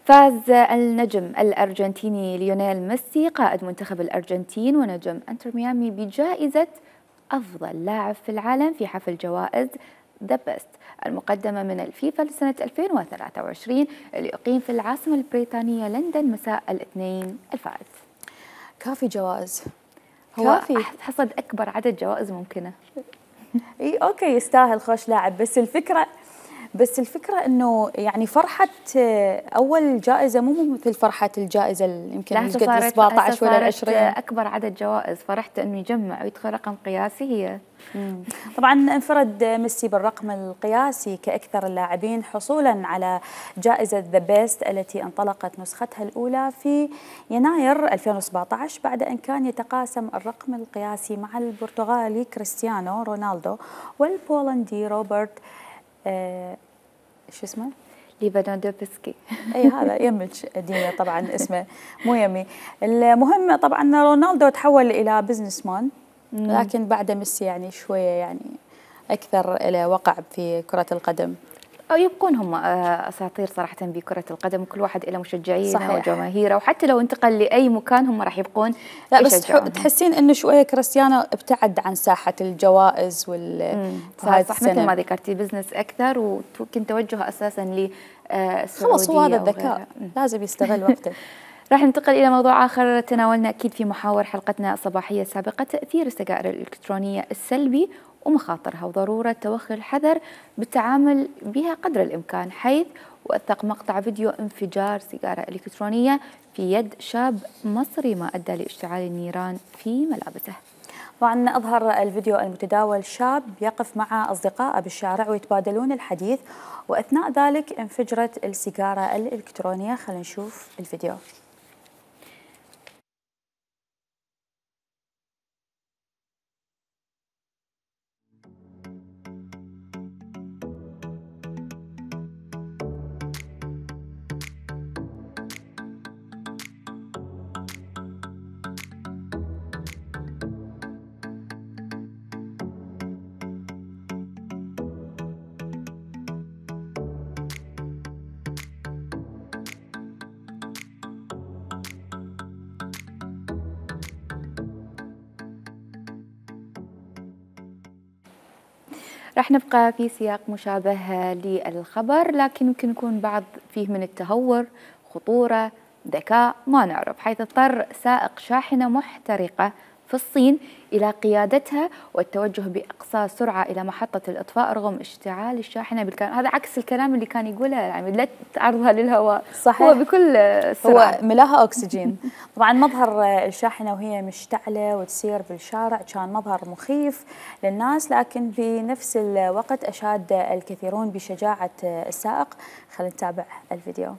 S2: فاز النجم الأرجنتيني ليونيل ميسي قائد منتخب الأرجنتين ونجم انتر ميامي بجائزة أفضل لاعب في العالم في حفل جوائز ذا بيست المقدمة من الفيفا لسنة ألفين وثلاثة وعشرين اللي أقيم في العاصمة البريطانية لندن مساء الاثنين الفائت.
S1: كافي جوائز،
S2: هو
S1: كافي
S2: حصد أكبر عدد جوائز ممكنة.
S1: اي اوكي يستاهل خوش لاعب، بس الفكرة بس الفكرة انه يعني فرحة اول جائزة مو مثل فرحة الجائزة اللي يمكن قد سبعة عشر ولا عشرين.
S2: اكبر عدد جوائز فرحت انه يجمع ويدخل رقم قياسي هي.
S1: مم. طبعا انفرد ميسي بالرقم القياسي كأكثر اللاعبين حصولا على جائزة ذا بيست التي انطلقت نسختها الأولى في يناير ألفين وسبعة عشر بعد أن كان يتقاسم الرقم القياسي مع البرتغالي كريستيانو رونالدو والبولندي روبرت آه شو اسمه؟
S2: ليفاندوفسكي.
S1: اي هذا يمج دينا طبعا اسمه مو يمي. المهم طبعا رونالدو تحول الى بزنس مان، لكن بعد ميسي يعني شويه يعني اكثر الى وقع في كره القدم.
S2: أو يبقون هم أساطير صراحة بكرة القدم، وكل واحد له مشجعينه وجماهيره، وحتى لو انتقل لأي مكان هم راح يبقون.
S1: لا بس تحسين إنه شوية كريستيانو ابتعد عن ساحة الجوائز وال
S2: صح مثل ما ذكرتي بزنس أكثر، ويمكن توجهه أساسا للسعودية.
S1: خلص هو هذا الذكاء لازم يستغل وقته.
S2: راح ننتقل إلى موضوع آخر تناولنا أكيد في محاور حلقتنا الصباحية السابقة، تأثير السجائر الإلكترونية السلبي ومخاطرها وضرورة توخي الحذر بالتعامل بها قدر الإمكان، حيث وثق مقطع فيديو انفجار سيجارة إلكترونية في يد شاب مصري ما أدى لاشتعال النيران في ملابسه.
S1: طبعا أظهر الفيديو المتداول شاب يقف مع أصدقائه بالشارع ويتبادلون الحديث، وأثناء ذلك انفجرت السيجارة الإلكترونية. خلينا نشوف الفيديو.
S2: راح نبقى في سياق مشابه للخبر، لكن يمكن يكون بعض فيه من التهور، خطورة، ذكاء، ما نعرف، حيث اضطر سائق شاحنة محترقة في الصين إلى قيادتها والتوجه بأقصى سرعة إلى محطة الإطفاء رغم اشتعال الشاحنة بالكامل. هذا عكس الكلام اللي كان يقوله، يعني لا تعرضها للهواء.
S1: صحيح.
S2: هو بكل سرعة،
S1: هو ملاها أكسجين. طبعا مظهر الشاحنة وهي مشتعلة وتسير بالشارع كان مظهر مخيف للناس، لكن بنفس الوقت أشاد الكثيرون بشجاعة السائق. خلينا نتابع الفيديو.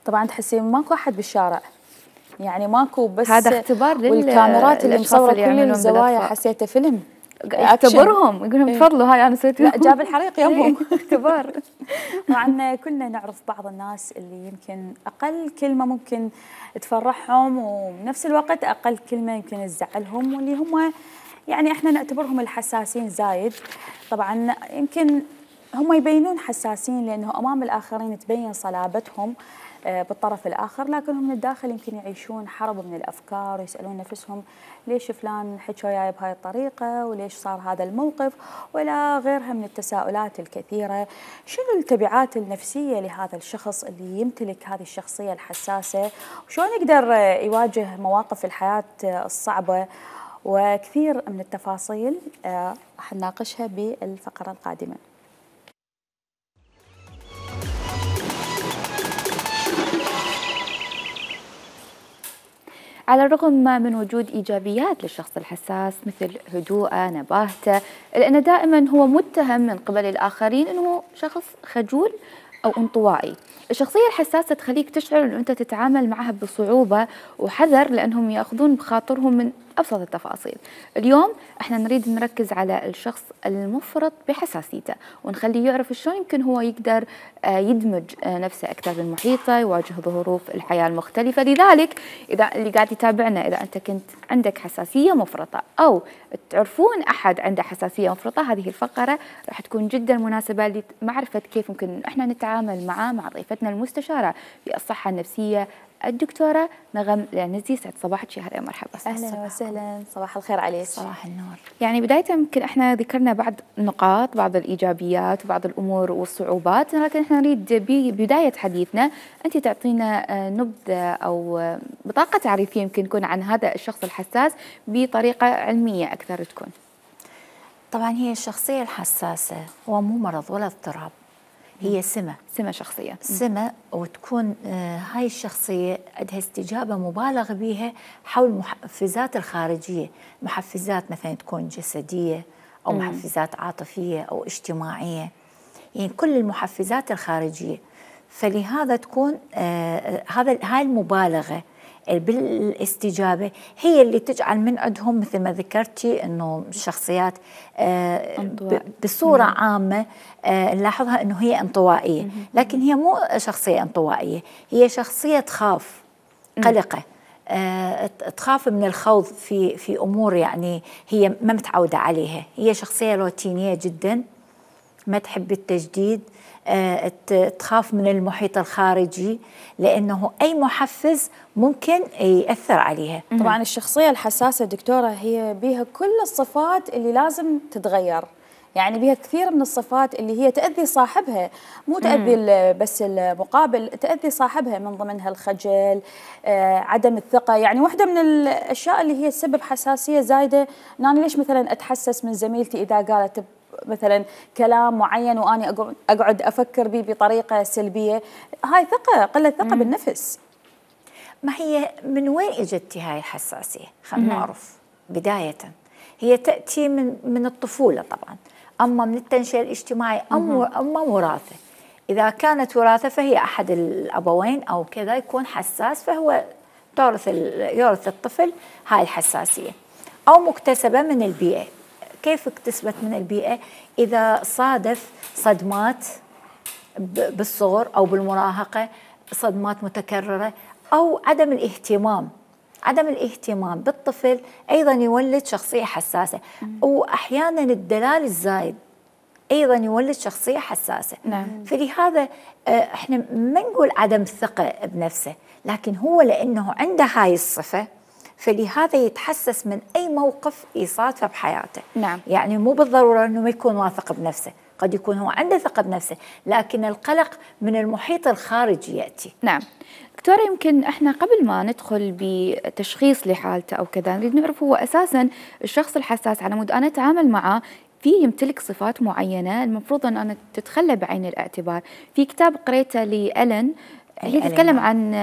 S1: طبعا تحسين ماكو احد بالشارع، يعني ماكو، بس
S2: هذا اختبار لل
S1: والكاميرات اللي مصوره كل الزوايا حسيته فيلم.
S2: اختبرهم يقول لهم تفضلوا هاي انا سويت.
S1: لا جاب الحريق يمهم.
S2: اختبار.
S1: طبعا كلنا نعرف بعض الناس اللي يمكن اقل كلمه ممكن تفرحهم، وبنفس الوقت اقل كلمه يمكن تزعلهم، واللي هم يعني احنا نعتبرهم الحساسين زايد. طبعا يمكن هم يبينون حساسين لانه امام الاخرين تبين صلابتهم بالطرف الآخر، لكن هم من الداخل يمكن يعيشون حرب من الأفكار ويسألون نفسهم ليش فلان حكى وياي بهاي الطريقة، وليش صار هذا الموقف، ولا غيرها من التساؤلات الكثيرة. شنو التبعات النفسية لهذا الشخص اللي يمتلك هذه الشخصية الحساسة، وشلون يقدر يواجه مواقف الحياة الصعبة، وكثير من التفاصيل راح نناقشها بالفقرة القادمة.
S2: على الرغم من وجود إيجابيات للشخص الحساس مثل هدوءه، نباهته، لأن دائما هو متهم من قبل الآخرين أنه شخص خجول أو انطوائي. الشخصية الحساسة تخليك تشعر أن أنت تتعامل معها بصعوبة وحذر، لأنهم يأخذون بخاطرهم من أبسط التفاصيل. اليوم احنا نريد نركز على الشخص المفرط بحساسيته ونخليه يعرف شلون يمكن هو يقدر يدمج نفسه أكثر بالمحيطة، يواجه ظروف الحياة المختلفة. لذلك إذا اللي قاعد يتابعنا، إذا أنت كنت عندك حساسية مفرطة أو تعرفون أحد عنده حساسية مفرطة، هذه الفقرة راح تكون جدا مناسبة لمعرفة كيف ممكن احنا نتعامل معه مع ضيفتنا المستشارة في الصحة النفسية الدكتورة نغم العنزي. سعد صباحك يا هلا مرحبا.
S1: اهلا وسهلا، صباح الخير عليك.
S2: صباح النور. يعني بداية يمكن احنا ذكرنا بعض النقاط، بعض الايجابيات وبعض الامور والصعوبات، لكن احنا نريد ببداية حديثنا انت تعطينا نبذة او بطاقة تعريفية يمكن تكون عن هذا الشخص الحساس بطريقة علمية اكثر تكون.
S9: طبعا هي الشخصية الحساسة هو مو مرض ولا اضطراب، هي سمة
S2: سمة شخصية
S9: سمة وتكون آه هاي الشخصية عندها استجابة مبالغ بها حول المحفزات الخارجية، محفزات مثلا تكون جسدية أو مم. محفزات عاطفية أو اجتماعية، يعني كل المحفزات الخارجية. فلهذا تكون آه هذا هاي المبالغة بالاستجابة هي اللي تجعل من عندهم مثل ما ذكرتي أنه الشخصيات آه بصورة مم. عامة آه نلاحظها أنه هي انطوائية، مم. لكن هي مو شخصية انطوائية، هي شخصية تخاف، قلقة، آه تخاف من الخوض في في أمور يعني هي ما متعودة عليها. هي شخصية روتينية جدا، ما تحب التجديد، أه تخاف من المحيط الخارجي لأنه أي محفز ممكن يأثر عليها.
S1: طبعا الشخصية الحساسة دكتورة هي بها كل الصفات اللي لازم تتغير، يعني بها كثير من الصفات اللي هي تأذي صاحبها، مو تأذي بس المقابل، تأذي صاحبها، من ضمنها الخجل، آه، عدم الثقة. يعني واحدة من الأشياء اللي هي تسبب حساسية زايدة، أنا ليش مثلا أتحسس من زميلتي إذا قالت مثلا كلام معين واني اقعد افكر به بطريقه سلبيه؟ هاي ثقه، قله ثقه مم. بالنفس.
S9: ما هي من وين اجت هاي الحساسيه؟ خلينا نعرف. بدايه هي تاتي من من الطفوله طبعا، اما من التنشئه الاجتماعيه، اما اما وراثه. اذا كانت وراثه فهي احد الابوين او كذا يكون حساس، فهو تورث يورث الطفل هاي الحساسيه، او مكتسبه من البيئه. كيف اكتسبت من البيئة؟ إذا صادف صدمات بالصغر أو بالمراهقة، صدمات متكررة، أو عدم الاهتمام عدم الاهتمام بالطفل أيضا يولد شخصية حساسة. وأحيانا الدلال الزايد أيضا يولد شخصية حساسة.
S2: نعم.
S9: فلهذا احنا ما نقول عدم الثقة بنفسه، لكن هو لأنه عنده هاي الصفة فلهذا يتحسس من أي موقف يصادفه بحياته.
S2: نعم.
S9: يعني مو بالضرورة أنه ما يكون واثق بنفسه، قد يكون هو عنده ثقة بنفسه، لكن القلق من المحيط الخارجي يأتي.
S2: نعم. دكتورة، يمكن احنا قبل ما ندخل بتشخيص لحالته أو كذا نريد نعرف هو أساسا الشخص الحساس على مود أنا أتعامل معه في يمتلك صفات معينة المفروض أن أنا تتخلى بعين الاعتبار. في كتاب قريته لألين هي تتكلم عن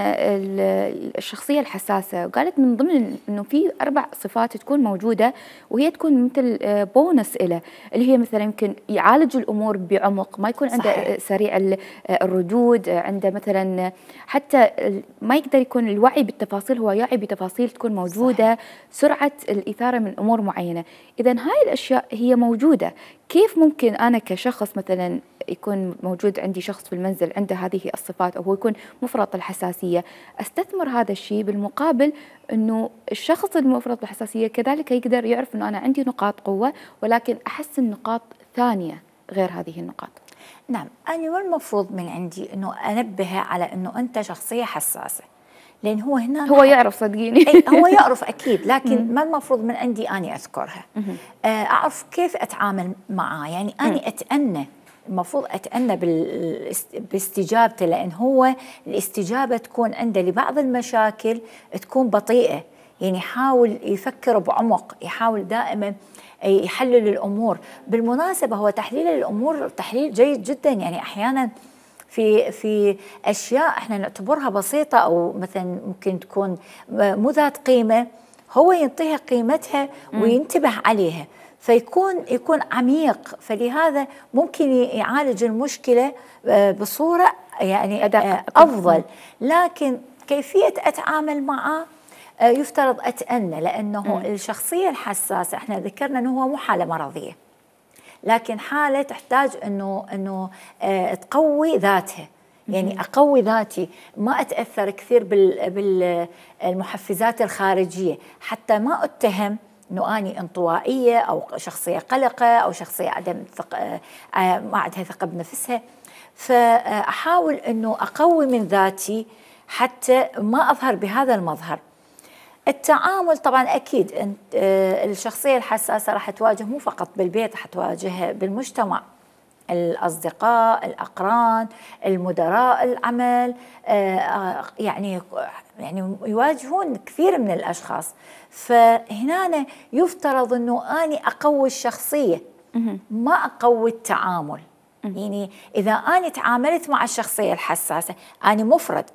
S2: الشخصية الحساسة، وقالت من ضمن أنه في أربع صفات تكون موجودة وهي تكون مثل بونس إله، اللي هي مثلا يمكن يعالج الأمور بعمق، ما يكون عنده صحيح. سريع الردود، عنده مثلا حتى ما يقدر يكون الوعي بالتفاصيل، هو يعي بتفاصيل تكون موجودة صحيح. سرعة الإثارة من أمور معينة. إذا هاي الأشياء هي موجودة. كيف ممكن أنا كشخص مثلا يكون موجود عندي شخص في المنزل عنده هذه الصفات أو هو يكون مفرط الحساسية، أستثمر هذا الشيء بالمقابل أنه الشخص المفرط الحساسية كذلك يقدر يعرف أنه أنا عندي نقاط قوة ولكن أحسن نقاط ثانية غير هذه النقاط.
S9: نعم، أنا ما المفروض من عندي أنه أنبه على أنه أنت شخصية حساسة، لأن هو هنا
S2: هو يعرف صدقيني
S9: هو يعرف أكيد، لكن ما المفروض من عندي أني أذكرها، أعرف كيف أتعامل معاه. يعني أني أتأنى، المفروض أتأنى باستجابته، لأن هو الاستجابة تكون عنده لبعض المشاكل تكون بطيئة، يعني يحاول يفكر بعمق، يحاول دائما يحلل الأمور. بالمناسبة هو تحليل الأمور تحليل جيد جدا، يعني أحيانا في في أشياء احنا نعتبرها بسيطة أو مثلا ممكن تكون مو ذات قيمة، هو ينطيها قيمتها وينتبه عليها. فيكون يكون عميق، فلهذا ممكن يعالج المشكله بصوره يعني افضل. لكن كيفيه اتعامل معه يفترض اتأنى، لانه م. الشخصيه الحساسه احنا ذكرنا انه هو مو حاله مرضيه، لكن حاله تحتاج انه انه تقوي ذاتها. يعني اقوي ذاتي، ما اتاثر كثير بالمحفزات الخارجيه، حتى ما اتهم انه اني انطوائيه او شخصيه قلقه او شخصيه عدم ثق... ما عندها ثقه بنفسها. فاحاول انه اقوي من ذاتي حتى ما اظهر بهذا المظهر. التعامل طبعا اكيد الشخصيه الحساسه راح تواجه مو فقط بالبيت، راح تواجهها بالمجتمع، الأصدقاء، الأقران، المدراء العمل، يعني يعني يواجهون كثير من الأشخاص. فهنا يفترض أنه أنا أقوي الشخصية ما أقوي التعامل. يعني إذا أنا تعاملت مع الشخصية الحساسة، أنا مفرد،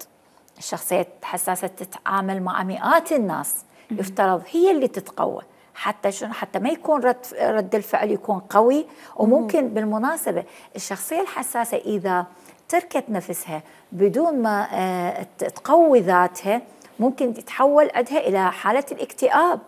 S9: الشخصية الحساسة تتعامل مع مئات الناس، يفترض هي اللي تتقوى حتى شنو؟ حتى ما يكون رد رد الفعل يكون قوي. وممكن بالمناسبة الشخصية الحساسة إذا تركت نفسها بدون ما تقوي ذاتها ممكن تتحول عندها إلى حالة الاكتئاب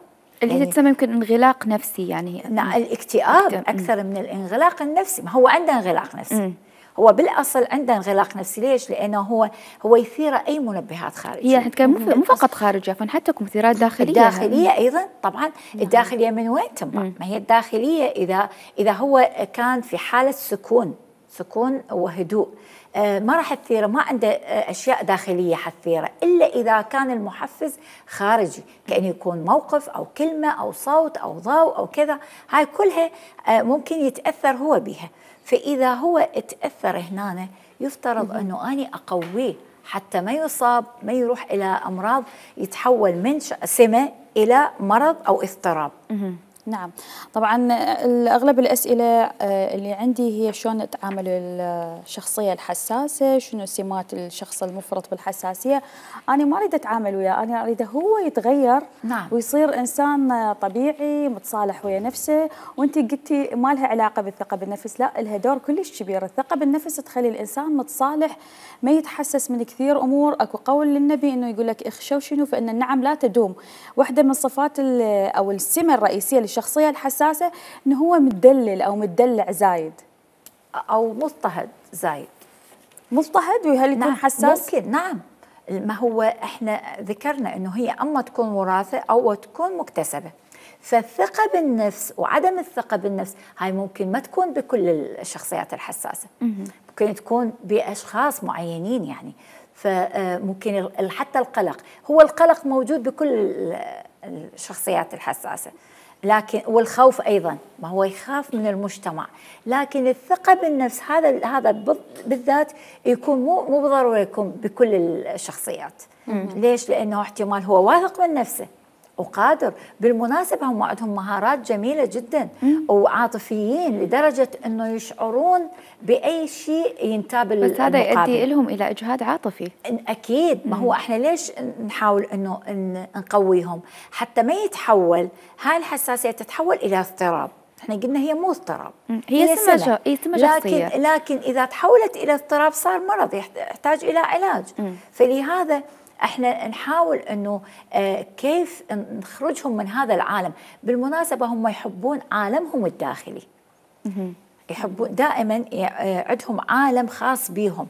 S2: اللي يعني تسمى يمكن انغلاق نفسي. يعني
S9: نعم الاكتئاب أكثر من الانغلاق النفسي. ما هو عنده انغلاق نفسي، م. هو بالاصل عنده انغلاق نفسي. ليش؟ لانه هو هو يثير اي منبهات خارجيه.
S2: هي كان مو فقط خارجيه، حتى مثيرات داخليه.
S9: الداخليه ايضا طبعا. نعم. الداخليه من وين تنبع؟ ما هي الداخليه اذا اذا هو كان في حاله سكون سكون وهدوء، آه ما راح تثيره، ما عنده آه اشياء داخليه حتثيره الا اذا كان المحفز خارجي، كأنه يكون موقف او كلمه او صوت او ضوء او كذا. هاي كلها آه ممكن يتاثر هو بها. فإذا هو تأثر هنا يفترض أنه أنا أقويه حتى ما يصاب، ما يروح إلى أمراض يتحول من سمة إلى مرض أو اضطراب.
S1: نعم طبعا أغلب الأسئلة اللي عندي هي شلون نتعامل الشخصية الحساسة، شنو سمات الشخص المفرط بالحساسية. أنا ما أريد أتعامل وياه، أنا أريد هو يتغير. نعم. ويصير إنسان طبيعي متصالح ويا نفسه. وأنت قلتي ما لها علاقة بالثقة بالنفس، لا لها دور كلش كبير. الثقة بالنفس تخلي الإنسان متصالح، ما يتحسس من كثير أمور. أكو قول للنبي إنه يقول لك اخشوا شنو فإن النعم لا تدوم. واحدة من صفات أو السمة الرئيسية الشخصية الحساسة إنه هو متدلل أو متدلع زايد
S9: أو مضطهد زايد.
S1: مضطهد وهل يكون
S9: نعم
S1: حساس؟
S9: ممكن. نعم ما هو احنا ذكرنا إنه هي أما تكون وراثة أو تكون مكتسبة. فالثقة بالنفس وعدم الثقة بالنفس هاي ممكن ما تكون بكل الشخصيات الحساسة، ممكن تكون بأشخاص معينين. يعني فممكن حتى القلق، هو القلق موجود بكل الشخصيات الحساسة، لكن والخوف ايضا، ما هو يخاف من المجتمع. لكن الثقه بالنفس هذا هذا بالذات يكون مو مو بالضروره يكون بكل الشخصيات. مم. ليش؟ لانه احتمال هو واثق من نفسه وقادر. بالمناسبه هم عندهم مهارات جميله جدا. مم. وعاطفيين لدرجه انه يشعرون باي شيء ينتاب
S2: بس هذا يؤدي لهم الى اجهاد عاطفي.
S9: اكيد. ما هو احنا ليش نحاول انه نقويهم حتى ما يتحول هاي الحساسيه تتحول الى اضطراب. احنا قلنا هي مو اضطراب،
S2: هي, هي سمة
S9: لكن لكن اذا تحولت الى اضطراب صار مرض يحتاج الى علاج. مم. فلهذا احنا نحاول انه آه كيف نخرجهم من هذا العالم. بالمناسبه هم يحبون عالمهم الداخلي. مم. يحبون دائما عندهم عالم خاص بهم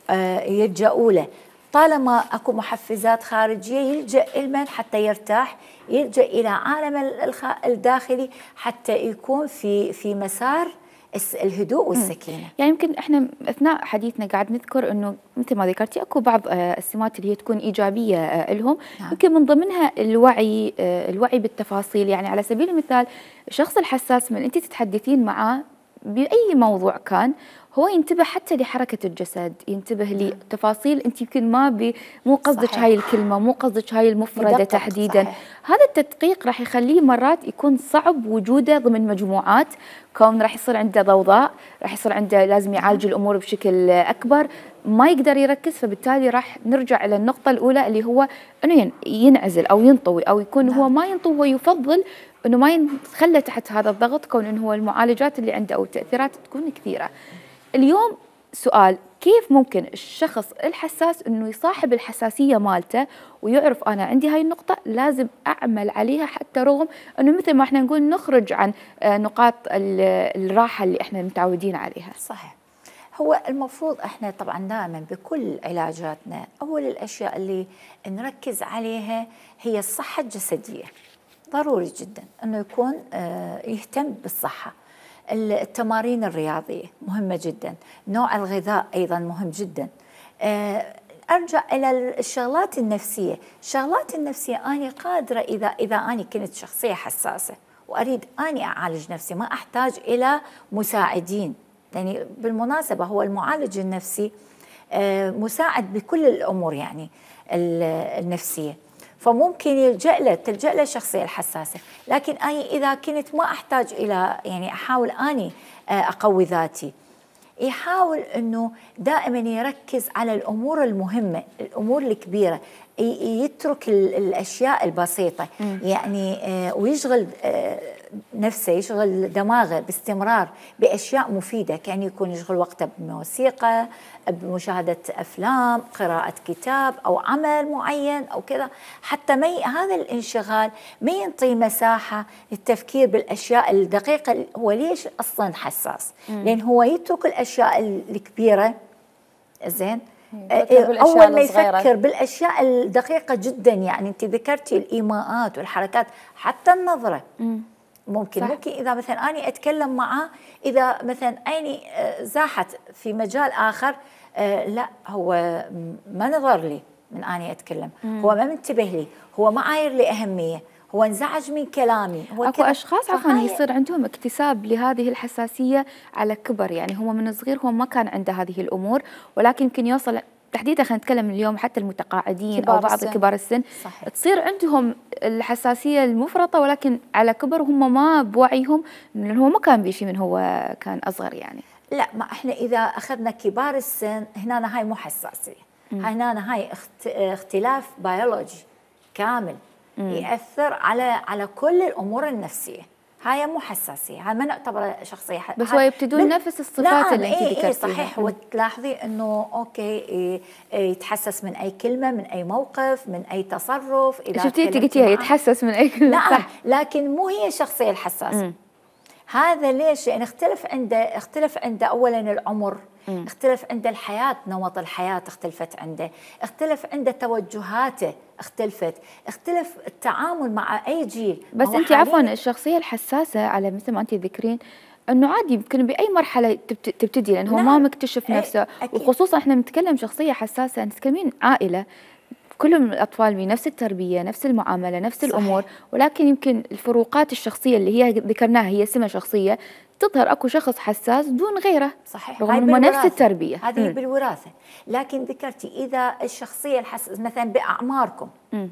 S9: آه يلجأوا له. طالما اكو محفزات خارجيه يلجأ لمن حتى يرتاح؟ يلجأ الى عالم الداخلي حتى يكون في في مسار الهدوء والسكينه.
S2: يعني يمكن احنا اثناء حديثنا قاعد نذكر انه مثل ما ذكرتي اكو بعض السمات اللي هي تكون ايجابيه لهم. نعم. يمكن من ضمنها الوعي، الوعي بالتفاصيل. يعني على سبيل المثال الشخص الحساس من انت تتحدثين معه باي موضوع كان هو ينتبه حتى لحركه الجسد، ينتبه لتفاصيل انت يمكن ما بي مو قصدك هاي الكلمه، مو قصدك هاي المفرده تحديدا. صحيح. هذا التدقيق راح يخليه مرات يكون صعب وجوده ضمن مجموعات، كون راح يصير عنده ضوضاء، راح يصير عنده لازم يعالج الامور بشكل اكبر. ما يقدر يركز، فبالتالي راح نرجع إلى النقطة الأولى اللي هو أنه ينعزل أو ينطوي أو يكون نعم. هو ما ينطوي، هو يفضل أنه ما يتخلى تحت هذا الضغط، كون أنه هو المعالجات اللي عنده أو التأثيرات تكون كثيرة. اليوم سؤال، كيف ممكن الشخص الحساس أنه يصاحب الحساسية مالته ويعرف أنا عندي هاي النقطة لازم أعمل عليها، حتى رغم أنه مثل ما احنا نقول نخرج عن نقاط الراحة اللي احنا متعودين عليها.
S9: صحيح. هو المفروض احنا طبعا دائما بكل علاجاتنا أول الأشياء اللي نركز عليها هي الصحة الجسدية. ضروري جدا أنه يكون يهتم بالصحة. التمارين الرياضية مهمة جدا، نوع الغذاء أيضا مهم جدا. أرجع إلى الشغلات النفسية. الشغلات النفسية أنا قادرة إذا إذا أنا كنت شخصية حساسة وأريد أني أعالج نفسي ما أحتاج إلى مساعدين. يعني بالمناسبة هو المعالج النفسي مساعد بكل الأمور يعني النفسية، فممكن يلجأ له تلجأ له الشخصية الحساسة. لكن أنا إذا كنت ما أحتاج إلى يعني أحاول أني أقوي ذاتي، يحاول أنه دائما يركز على الأمور المهمة، الأمور الكبيرة، يترك الأشياء البسيطة يعني ويشغل نفسه يشغل دماغه باستمرار بأشياء مفيدة، كان يكون يشغل وقته بموسيقى، بمشاهدة أفلام، قراءة كتاب أو عمل معين أو كذا، حتى ما هذا الانشغال ما ينطي مساحة للتفكير بالأشياء الدقيقة. هو ليش أصلا حساس؟ لأن هو يترك الأشياء الكبيرة زين أول ما يفكر بالأشياء الدقيقة جدا. يعني أنت ذكرتي الإيماءات والحركات، حتى النظرة مم. ممكن صح. ممكن إذا مثلا أنا أتكلم معه، إذا مثلا أني زاحت في مجال آخر لا هو ما نظر لي من أني أتكلم، مم. هو ما منتبه لي، هو ما عاير لي أهمية، هو انزعج من كلامي. هو
S2: اكو اشخاص عفوا يصير عندهم اكتساب لهذه الحساسيه على كبر، يعني هو من صغير هو ما كان عنده هذه الامور، ولكن يمكن يوصل تحديدا خلينا نتكلم اليوم حتى المتقاعدين او بعض السن. كبار السن صحيح. تصير عندهم الحساسيه المفرطه، ولكن على كبر هم ما بوعيهم، لانه هو ما كان بيشي من هو كان اصغر يعني.
S9: لا ما احنا اذا اخذنا كبار السن هنا هاي مو حساسيه، هنا هاي اختلاف بيولوجي كامل مم. يأثر على على كل الأمور النفسية. هاي مو حساسية، هاي ما نعتبر شخصية حساسية،
S2: بس هو يبتدون نفس الصفات اللي انت ذكرتيها.
S9: إيه صحيح. وتلاحظي انه اوكي إيه يتحسس من اي كلمة، من اي موقف، من اي تصرف.
S2: اذا شفتي انت قلتيها يتحسس من اي كلمة.
S9: نعم صح. لكن مو هي الشخصية الحساسة. مم. هذا ليش؟ يعني اختلف عنده اختلف عنده اولا العمر، مم. اختلف عنده الحياة، نمط الحياة اختلفت عنده، اختلف عنده توجهاته اختلفت، اختلف التعامل مع اي جيل.
S2: بس انت عفوا الشخصية الحساسة على مثل ما انت تذكرين انه عادي يمكن باي مرحله تبتدي، لانه هو نعم. ما مكتشف نفسه. وخصوصا احنا بنتكلم شخصيه حساسه، نتكلمين عائله كلهم الاطفال بنفس التربيه، نفس المعامله، نفس صحيح. الامور، ولكن يمكن الفروقات الشخصيه اللي هي ذكرناها هي سمه شخصيه تظهر. اكو شخص حساس دون غيره
S9: صحيح،
S2: رغم انه نفس التربيه.
S9: هذه بالوراثه. لكن ذكرتي اذا الشخصيه الحساسه مثلا باعماركم م.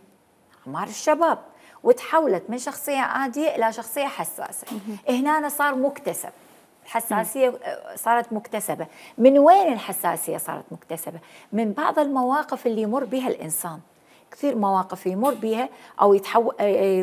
S9: اعمار الشباب وتحولت من شخصيه عاديه الى شخصيه حساسه، هنا صار مكتسب. الحساسيه صارت مكتسبه. من وين الحساسيه صارت مكتسبه؟ من بعض المواقف اللي يمر بها الانسان. كثير مواقف يمر بها او يتحول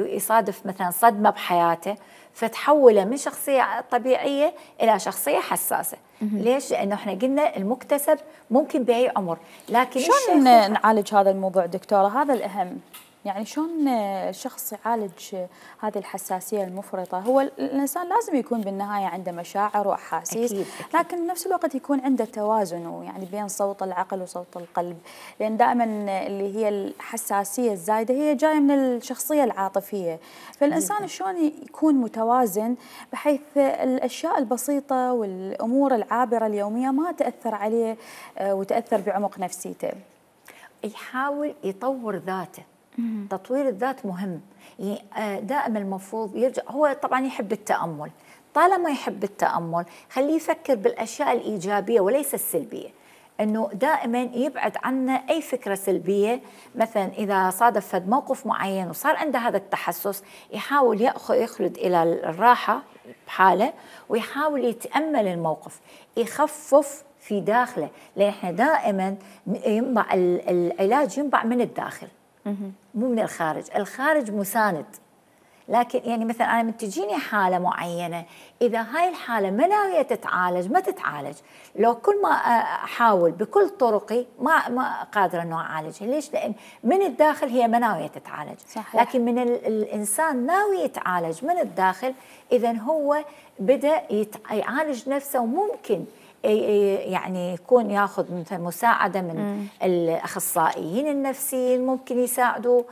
S9: يصادف مثلا صدمه بحياته فتحوله من شخصيه طبيعيه الى شخصيه حساسه. ليش؟ لانه احنا قلنا المكتسب ممكن باي عمر. لكن
S1: شلون نعالج هذا الموضوع دكتوره؟ هذا الاهم. يعني شلون الشخص يعالج هذه الحساسية المفرطة؟ هو الإنسان لازم يكون بالنهاية عنده مشاعر وأحاسيس، أكيد أكيد. لكن بنفس الوقت يكون عنده توازن يعني بين صوت العقل وصوت القلب، لأن دائما اللي هي الحساسية الزايدة هي جاية من الشخصية العاطفية. فالإنسان شلون يكون متوازن بحيث الأشياء البسيطة والأمور العابرة اليومية ما تأثر عليه وتأثر بعمق نفسيته؟
S9: يحاول يطور ذاته. تطوير الذات مهم. دائما المفروض يرجع، هو طبعا يحب التأمل، طالما يحب التأمل خليه يفكر بالأشياء الإيجابية وليس السلبية، أنه دائما يبعد عنا أي فكرة سلبية. مثلا إذا صادف فد موقف معين وصار عنده هذا التحسس يحاول يخلد إلى الراحة بحاله ويحاول يتأمل الموقف، يخفف في داخله، لان احنا دائما ينبع العلاج ينبع من الداخل مو من الخارج. الخارج مساند، لكن يعني مثلا انا من تجيني حاله معينه، اذا هاي الحاله ما ناويه تتعالج ما تتعالج، لو كل ما احاول بكل طرقي ما ما قادره انه اعالجها. ليش؟ لان من الداخل هي ما ناويه تتعالج. صحيح. لكن من الانسان ناوي يتعالج من الداخل، اذا هو بدا يعالج نفسه، وممكن يعني يكون ياخذ مثلا مساعده من مم. الاخصائيين النفسيين، ممكن يساعدوا،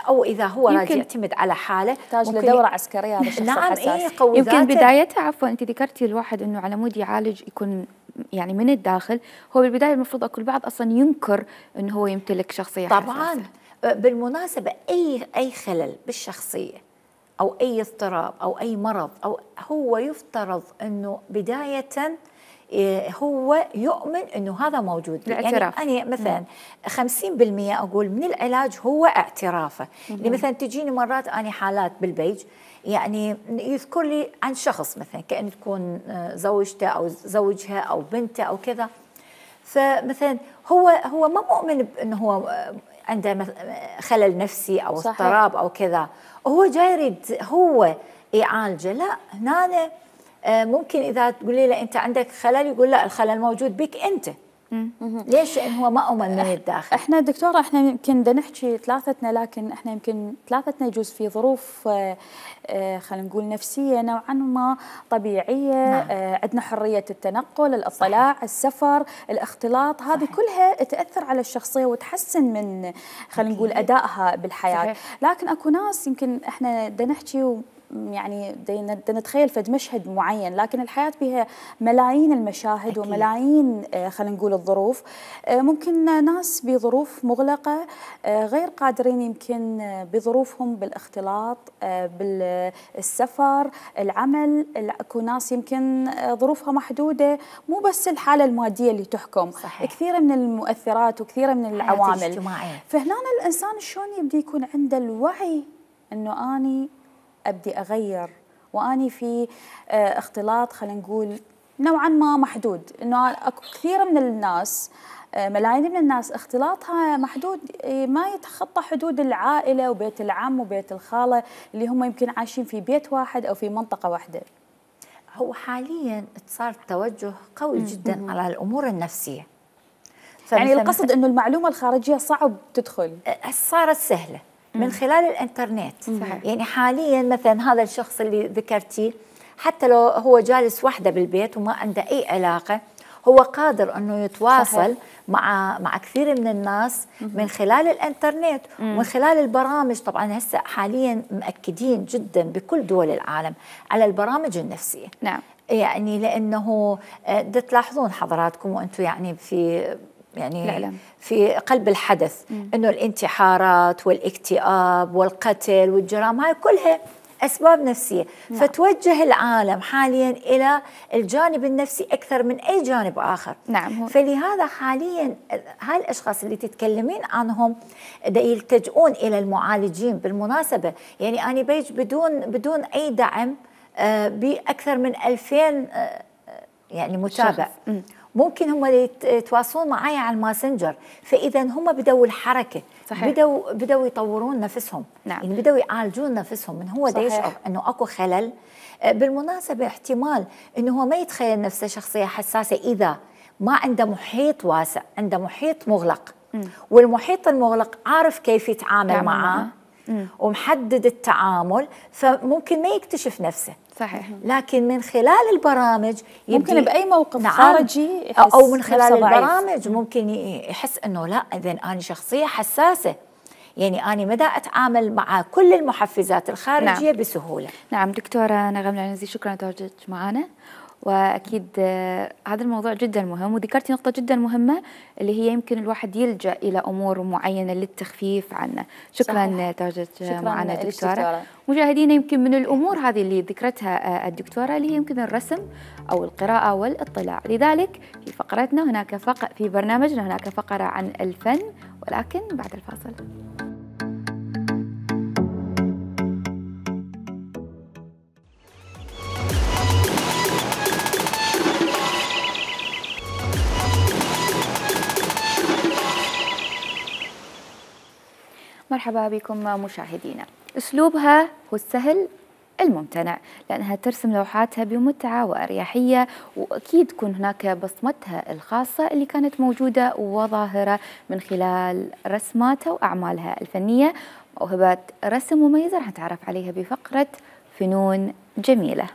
S9: او اذا هو راجع يعتمد على حاله
S1: يحتاج لدوره عسكريه هذا الشخص
S9: نعم
S1: الحساس.
S2: إيه يمكن بدايتها عفوا انت ذكرتي الواحد انه على مود يعالج يكون يعني من الداخل، هو بالبدايه المفروض اكو البعض اصلا ينكر انه هو يمتلك شخصيه
S9: طبعا
S2: حساسة.
S9: بالمناسبه اي اي خلل بالشخصيه او اي اضطراب او اي مرض، او هو يفترض انه بدايه هو يؤمن انه هذا موجود.
S2: الاعتراف.
S9: يعني انا مثلا خمسين بالمئة اقول من العلاج هو اعترافه. يعني مثلا تجيني مرات اني حالات بالبيج يعني يذكر لي عن شخص مثلا كأن تكون زوجته او زوجها او بنته او كذا، فمثلا هو هو ما مؤمن بانه هو عنده خلل نفسي او اضطراب او كذا، هو جاي يريد هو يعالجه. لا، هنا ممكن إذا تقولي له أنت عندك خلل يقول لا، الخلل موجود بك أنت. ليش؟ لأن هو ما أؤمن من الداخل.
S1: احنا دكتورة احنا يمكن بدنا نحكي ثلاثتنا، لكن احنا يمكن ثلاثتنا يجوز في ظروف اه اه خلينا نقول نفسية نوعا ما طبيعية. نعم. اه عندنا حرية التنقل، الاطلاع، صحيح. السفر، الاختلاط، هذه كلها تأثر على الشخصية وتحسن من خلينا نقول أدائها بالحياة. صحيح. لكن اكو ناس يمكن احنا بدنا نحكي يعني بدنا نتخيل فد مشهد معين، لكن الحياة بها ملايين المشاهد. أكيد. وملايين خلينا نقول الظروف. ممكن ناس بظروف مغلقة غير قادرين يمكن بظروفهم بالاختلاط، بالسفر، العمل. اكو ناس يمكن ظروفها محدودة، مو بس الحالة المادية اللي تحكم. صحيح. كثيرة من المؤثرات وكثيرة من العوامل. فهنا الإنسان شلون يبدي يكون عنده الوعي أنه أني أبدي أغير، وأني في اختلاط خلينا نقول نوعا ما محدود. إنه أكو كثير من الناس، ملايين من الناس اختلاطها محدود، ما يتخطى حدود العائلة وبيت العم وبيت الخالة اللي هم يمكن عايشين في بيت واحد أو في منطقة واحدة.
S9: هو حاليا صار توجه قوي جدا م- على الأمور النفسية.
S1: يعني القصد إنه المعلومة الخارجية صعب تدخل،
S9: صارت سهلة من خلال الانترنت. صحيح. يعني حاليا مثلا هذا الشخص اللي ذكرتيه حتى لو هو جالس وحده بالبيت وما عنده اي علاقه، هو قادر انه يتواصل. صحيح. مع مع كثير من الناس من خلال الانترنت ومن خلال البرامج. طبعا هسه حاليا مأكدين جدا بكل دول العالم على البرامج النفسيه.
S2: نعم.
S9: يعني لانه تلاحظون حضراتكم وانتم يعني في يعني الإعلام. في قلب الحدث مم. انه الانتحارات والاكتئاب والقتل والجرائم هاي كلها اسباب نفسيه. نعم. فتوجه العالم حاليا الى الجانب النفسي اكثر من اي جانب اخر.
S2: نعم.
S9: فلهذا حاليا هاي الاشخاص اللي تتكلمين عنهم يلتجؤون الى المعالجين. بالمناسبه يعني انا بيج بدون بدون اي دعم باكثر من ألفين يعني متابع. ممكن هم يتواصلون معي على الماسنجر، فاذا هم بدوا الحركه. صحيح. بدوا بدوا يطورون نفسهم. نعم. يعني بدوا يعالجون نفسهم من هو دا يشعر انه اكو خلل. بالمناسبه احتمال انه هو ما يتخيل نفسه شخصيه حساسه اذا ما عنده محيط واسع، عنده محيط مغلق. م. والمحيط المغلق عارف كيف يتعامل معه ومحدد التعامل، فممكن ما يكتشف نفسه.
S2: صحيح.
S9: لكن من خلال البرامج
S1: ممكن بأي موقف. نعم. خارجي
S9: يحس أو من خلال البرامج ممكن يحس أنه لا، إذن أنا شخصية حساسة، يعني أنا مدى أتعامل مع كل المحفزات الخارجية. نعم. بسهولة.
S2: نعم دكتورة نغم العنزي، شكرا لتواجدك معنا، وأكيد هذا الموضوع جدا مهم، وذكرتي نقطة جدا مهمة اللي هي يمكن الواحد يلجأ إلى أمور معينة للتخفيف عنه. شكرا لتواجدك معنا دكتورة. مشاهدينا يمكن من الأمور هذه اللي ذكرتها الدكتورة اللي هي يمكن الرسم أو القراءة والاطلاع. لذلك في فقرتنا هناك فق في برنامجنا هناك فقرة عن الفن، ولكن بعد الفاصل. مرحبا بكم مشاهدينا. أسلوبها هو السهل الممتنع، لأنها ترسم لوحاتها بمتعة وأريحية، وأكيد تكون هناك بصمتها الخاصة اللي كانت موجودة وظاهرة من خلال رسماتها وأعمالها الفنية. موهبات رسم مميزة رح نتعرف عليها بفقرة فنون جميلة.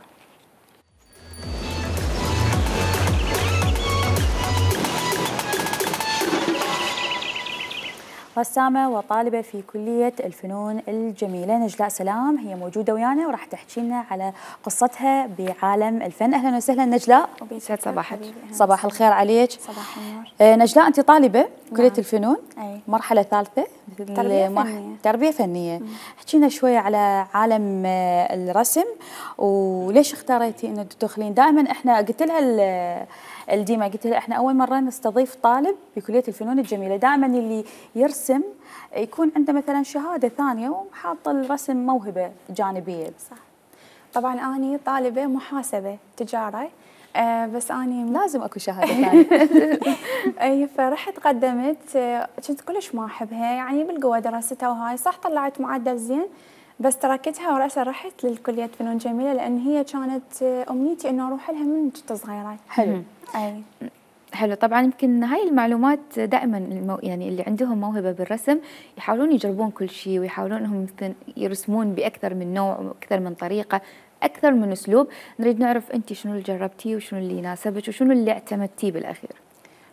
S1: رسامة وطالبة في كلية الفنون الجميلة نجلاء سلام، هي موجودة ويانا وراح تحكي لنا على قصتها بعالم الفن. أهلا وسهلا نجلاء.
S2: يسعد صباحك.
S1: صباح الخير عليك.
S10: صباح النور.
S1: آه نجلاء، أنت طالبة كلية
S10: نعم.
S1: الفنون،
S10: أي.
S1: مرحلة ثالثة،
S10: تربية فنية.
S1: تربية فنية. احكي لنا شوية على عالم آه الرسم، وليش اختاريتي إنه تدخلين؟ دائما احنا قلت لها الديما قلت لها احنا اول مره نستضيف طالب بكليه الفنون الجميله، دائما اللي يرسم يكون عنده مثلا شهاده ثانيه وحاطه الرسم موهبه جانبيه.
S10: صح. طبعا اني طالبه محاسبه تجاره، آه بس اني
S1: لازم اكو شهاده ثانيه.
S10: اي فرحت قدمت، آه كنت كلش ما احبها يعني بالقوه دراستها وهاي، صح طلعت معدل زين بس تركتها ورأسا رحت للكليه فنون جميله لان هي كانت امنيتي انه اروح لها من كنت صغيره.
S1: حلو.
S10: اي
S2: حلو. طبعا يمكن هاي المعلومات دائما المو يعني اللي عندهم موهبه بالرسم يحاولون يجربون كل شيء، ويحاولون انهم يرسمون باكثر من نوع واكثر من طريقه، اكثر من اسلوب. نريد نعرف انت شنو اللي جربتيه وشنو اللي يناسبك وشنو اللي اعتمدتيه بالاخير.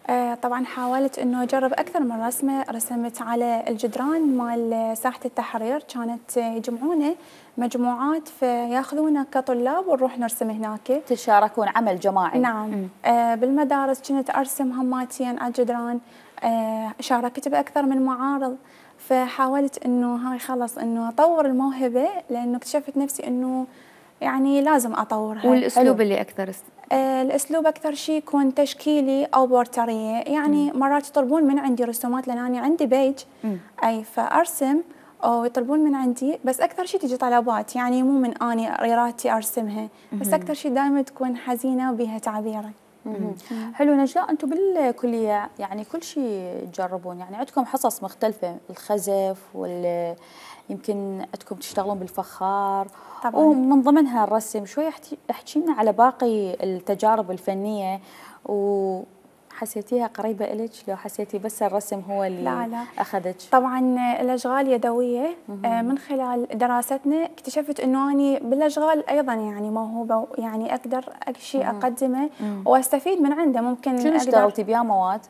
S10: آه طبعا حاولت انه اجرب اكثر من رسمه، رسمت على الجدران مال ساحه التحرير، كانت يجمعونا مجموعات فياخذونا كطلاب ونروح نرسم هناك.
S1: تشاركون عمل جماعي.
S10: نعم. آه بالمدارس كنت ارسم هماتين على الجدران، آه شاركت باكثر من معارض، فحاولت انه هاي خلص انه اطور الموهبه لانه اكتشفت نفسي انه يعني لازم اطورها.
S2: والاسلوب حلو. اللي اكثر
S10: آه الاسلوب اكثر شيء يكون تشكيلي او بورتريه، يعني مم. مرات يطلبون من عندي رسومات لان انا عندي بيج مم. اي فارسم او يطلبون من عندي، بس اكثر شيء تجي طلبات يعني مو من اني ريراتي ارسمها، بس اكثر شيء دائما تكون حزينه وبيها تعبيره.
S1: حلو. نجلاء، انتم بالكليه يعني كل شيء تجربون، يعني عندكم حصص مختلفه، الخزف وال يمكن عندكم تشتغلون بالفخار طبعا، ومن ضمنها الرسم. شوي احكي لنا على باقي التجارب الفنيه، وحسيتيها قريبه إلك لو حسيتي بس الرسم هو اللي
S10: لا لا.
S1: اخذك؟
S10: طبعا الاشغال يدويه. آه من خلال دراستنا اكتشفت انه اني بالاشغال ايضا يعني موهوبه، يعني اقدر شيء اقدمه مم. واستفيد من عنده. ممكن
S1: شنو اشتغلتي بها مواد؟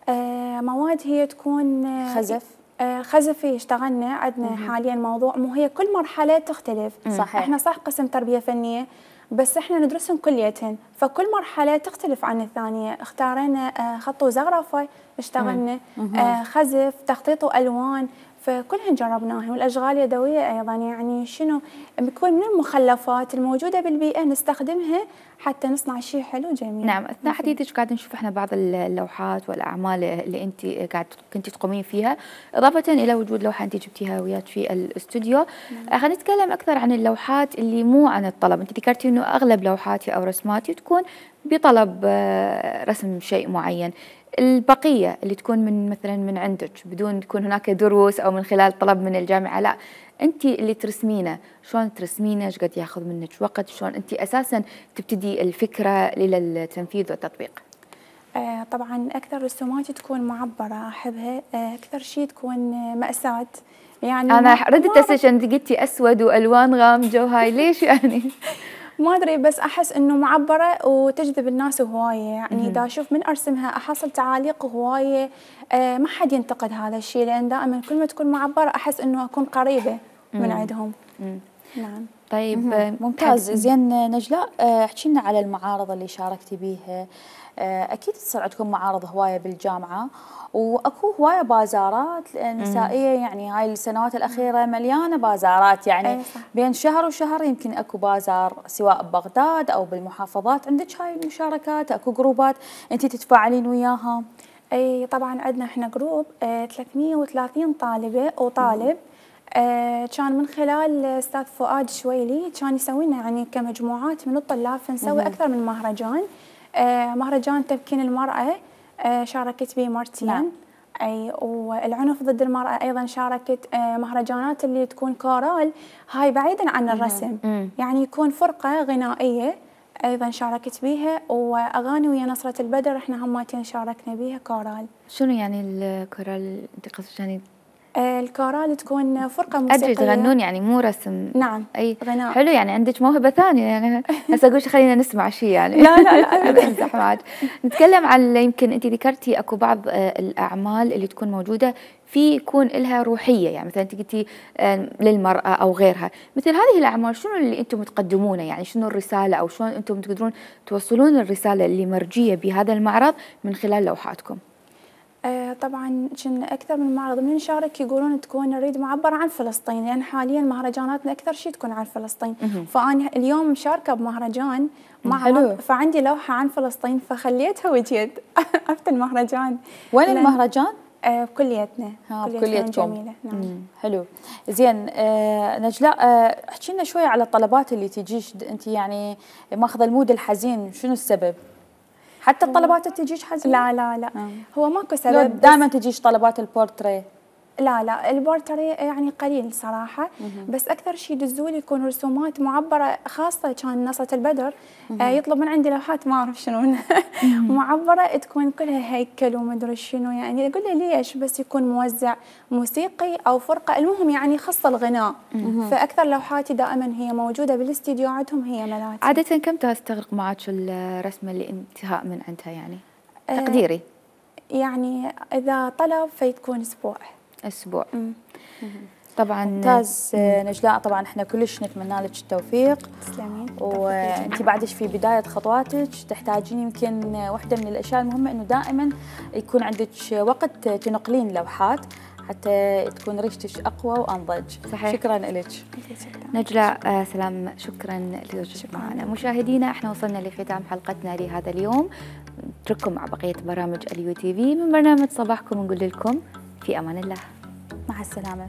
S10: آه مواد هي تكون
S1: خزف.
S10: آه خزفي اشتغلنا عندنا مم. حاليا موضوع، مو هي كل مرحله تختلف.
S1: صحيح.
S10: احنا صح قسم تربيه فنيه بس احنا ندرسهم كليتين، فكل مرحله تختلف عن الثانيه. اختارينا آه خط وزخرفه اشتغلنا، آه خزف، تخطيط والوان، فكلهن جربناهن. والاشغال اليدويه ايضا يعني شنو بيكون من المخلفات الموجوده بالبيئه نستخدمها حتى نصنع شيء حلو جميل.
S2: نعم. اثناء حديثك قاعد نشوف احنا بعض اللوحات والاعمال اللي انت قاعد كنتي تقومين فيها، اضافه الى وجود لوحه انت جبتيها وياك في الاستوديو. خلينا نتكلم اكثر عن اللوحات اللي مو عن الطلب. انت ذكرتي انه اغلب لوحاتي او رسماتي تكون بطلب رسم شيء معين. البقيه اللي تكون من مثلا من عندك بدون تكون هناك دروس او من خلال طلب من الجامعه، لا انت اللي ترسمينه، شلون ترسمينه؟ ايش قد ياخذ منك وقت؟ شلون انت اساسا تبتدي الفكره للتنفيذ والتطبيق؟
S10: آه طبعا اكثر رسوماتي تكون معبره احبها، آه اكثر شيء تكون مأساة. يعني
S2: انا ردت اساسا انت قلتي اسود والوان غامجه وهاي، ليش يعني؟
S10: ما ادري بس احس انه معبره وتجذب الناس هوايه، يعني اذا اشوف من ارسمها احصل تعاليق هوايه. آه ما حد ينتقد هذا الشيء لان دائما كل ما تكون معبره احس انه اكون قريبه من عندهم. مم. نعم.
S1: طيب ممتاز. زين نجلاء، احكي لنا على المعارض اللي شاركتي بيها. اكيد تصير عندكم معارض هوايه بالجامعه، واكو هوايه بازارات نسائيه، يعني هاي السنوات الاخيره مليانه بازارات، يعني بين شهر وشهر يمكن اكو بازار سواء ببغداد او بالمحافظات. عندك هاي المشاركات؟ اكو جروبات انت تتفاعلين وياها؟
S10: اي طبعا عندنا احنا جروب آه ثلاثمئة وثلاثين طالبه وطالب. آه كان من خلال استاذ فؤاد شويلي كان يسوي لنا يعني كمجموعات من الطلاب، فنسوي اكثر من مهرجان. آه مهرجان تمكين المراه آه شاركت به مرتين. نعم. اي والعنف ضد المراه ايضا شاركت. آه مهرجانات اللي تكون كورال هاي بعيدا عن الرسم، يعني يكون فرقه غنائيه ايضا شاركت بيها، واغاني ويا نصره البدر احنا هماتين شاركنا بيها كورال.
S2: شنو يعني الكورال انت قصدك يعني؟
S10: آه الكورال تكون فرقه موسيقيه.
S2: ادري تغنون يعني مو رسم.
S10: نعم
S2: اي
S10: غناء.
S2: حلو، يعني عندك موهبه ثانيه يعني. هسه اقول خلينا نسمع شيء يعني.
S10: لا لا لا
S2: امزح معك. نتكلم عن يمكن انت ذكرتي اكو بعض الاعمال اللي تكون موجوده في يكون لها روحيه، يعني مثلا انت قلتي للمراه او غيرها، مثل هذه الاعمال شنو اللي انتم تقدمونه؟ يعني شنو الرساله او شلون انتم تقدرون توصلون الرساله اللي مرجيه بهذا المعرض من خلال لوحاتكم؟
S10: آه طبعا كنا اكثر من معرض من نشارك يقولون تكون نريد معبره عن فلسطين، لان يعني حاليا مهرجاناتنا اكثر شيء تكون عن فلسطين. فانا اليوم مشاركه بمهرجان معرض فعندي لوحه عن فلسطين فخليتها وجيت عرفت المهرجان.
S1: وين المهرجان؟
S10: آه بكليتنا.
S1: ها بكليتكم.
S10: جميله. نعم.
S1: مم. حلو. زين آه نجلاء، آه احكي لنا شويه على الطلبات اللي تجيش انت، يعني ماخذه المود الحزين، شنو السبب؟ حتى الطلبات تجيش حزين؟
S10: لا لا لا
S1: آه.
S10: هو ماكو سبب.
S1: دائما تجيش طلبات البورتريه؟
S10: لا لا البورتري يعني قليل صراحة. بس أكثر شيء يدزولي يكون رسومات معبرة، خاصة كان نصرة البدر آه يطلب من عندي لوحات ما أعرف شنو معبرة تكون كلها هيكل ومدري شنو، يعني أقول له ليش بس يكون موزع موسيقي أو فرقة، المهم يعني خاصة الغناء. فأكثر لوحاتي دائما هي موجودة بالاستديو عندهم هي ملاتي.
S2: عادة كم تستغرق معك الرسمة اللي انتهاء من عندها يعني؟ تقديري
S10: آه يعني إذا طلب فيتكون أسبوع.
S2: اسبوع. مم. طبعا
S1: ممتاز. نجلاء طبعا احنا كلش نتمنى لك التوفيق.
S10: تسلمين.
S1: وانت بعدش في بدايه خطواتك، تحتاجين يمكن واحده من الاشياء المهمه انه دائما يكون عندك وقت تنقلين لوحات حتى تكون ريشتك اقوى وانضج.
S2: صحيح.
S1: شكرا لك
S2: نجلاء سلام، شكرا لوجودك معنا. مشاهدينا احنا وصلنا لختام حلقتنا لهذا اليوم، نترككم مع بقيه برامج اليو تي في من برنامج صباحكم، نقول لكم في امان الله،
S1: مع السلامه.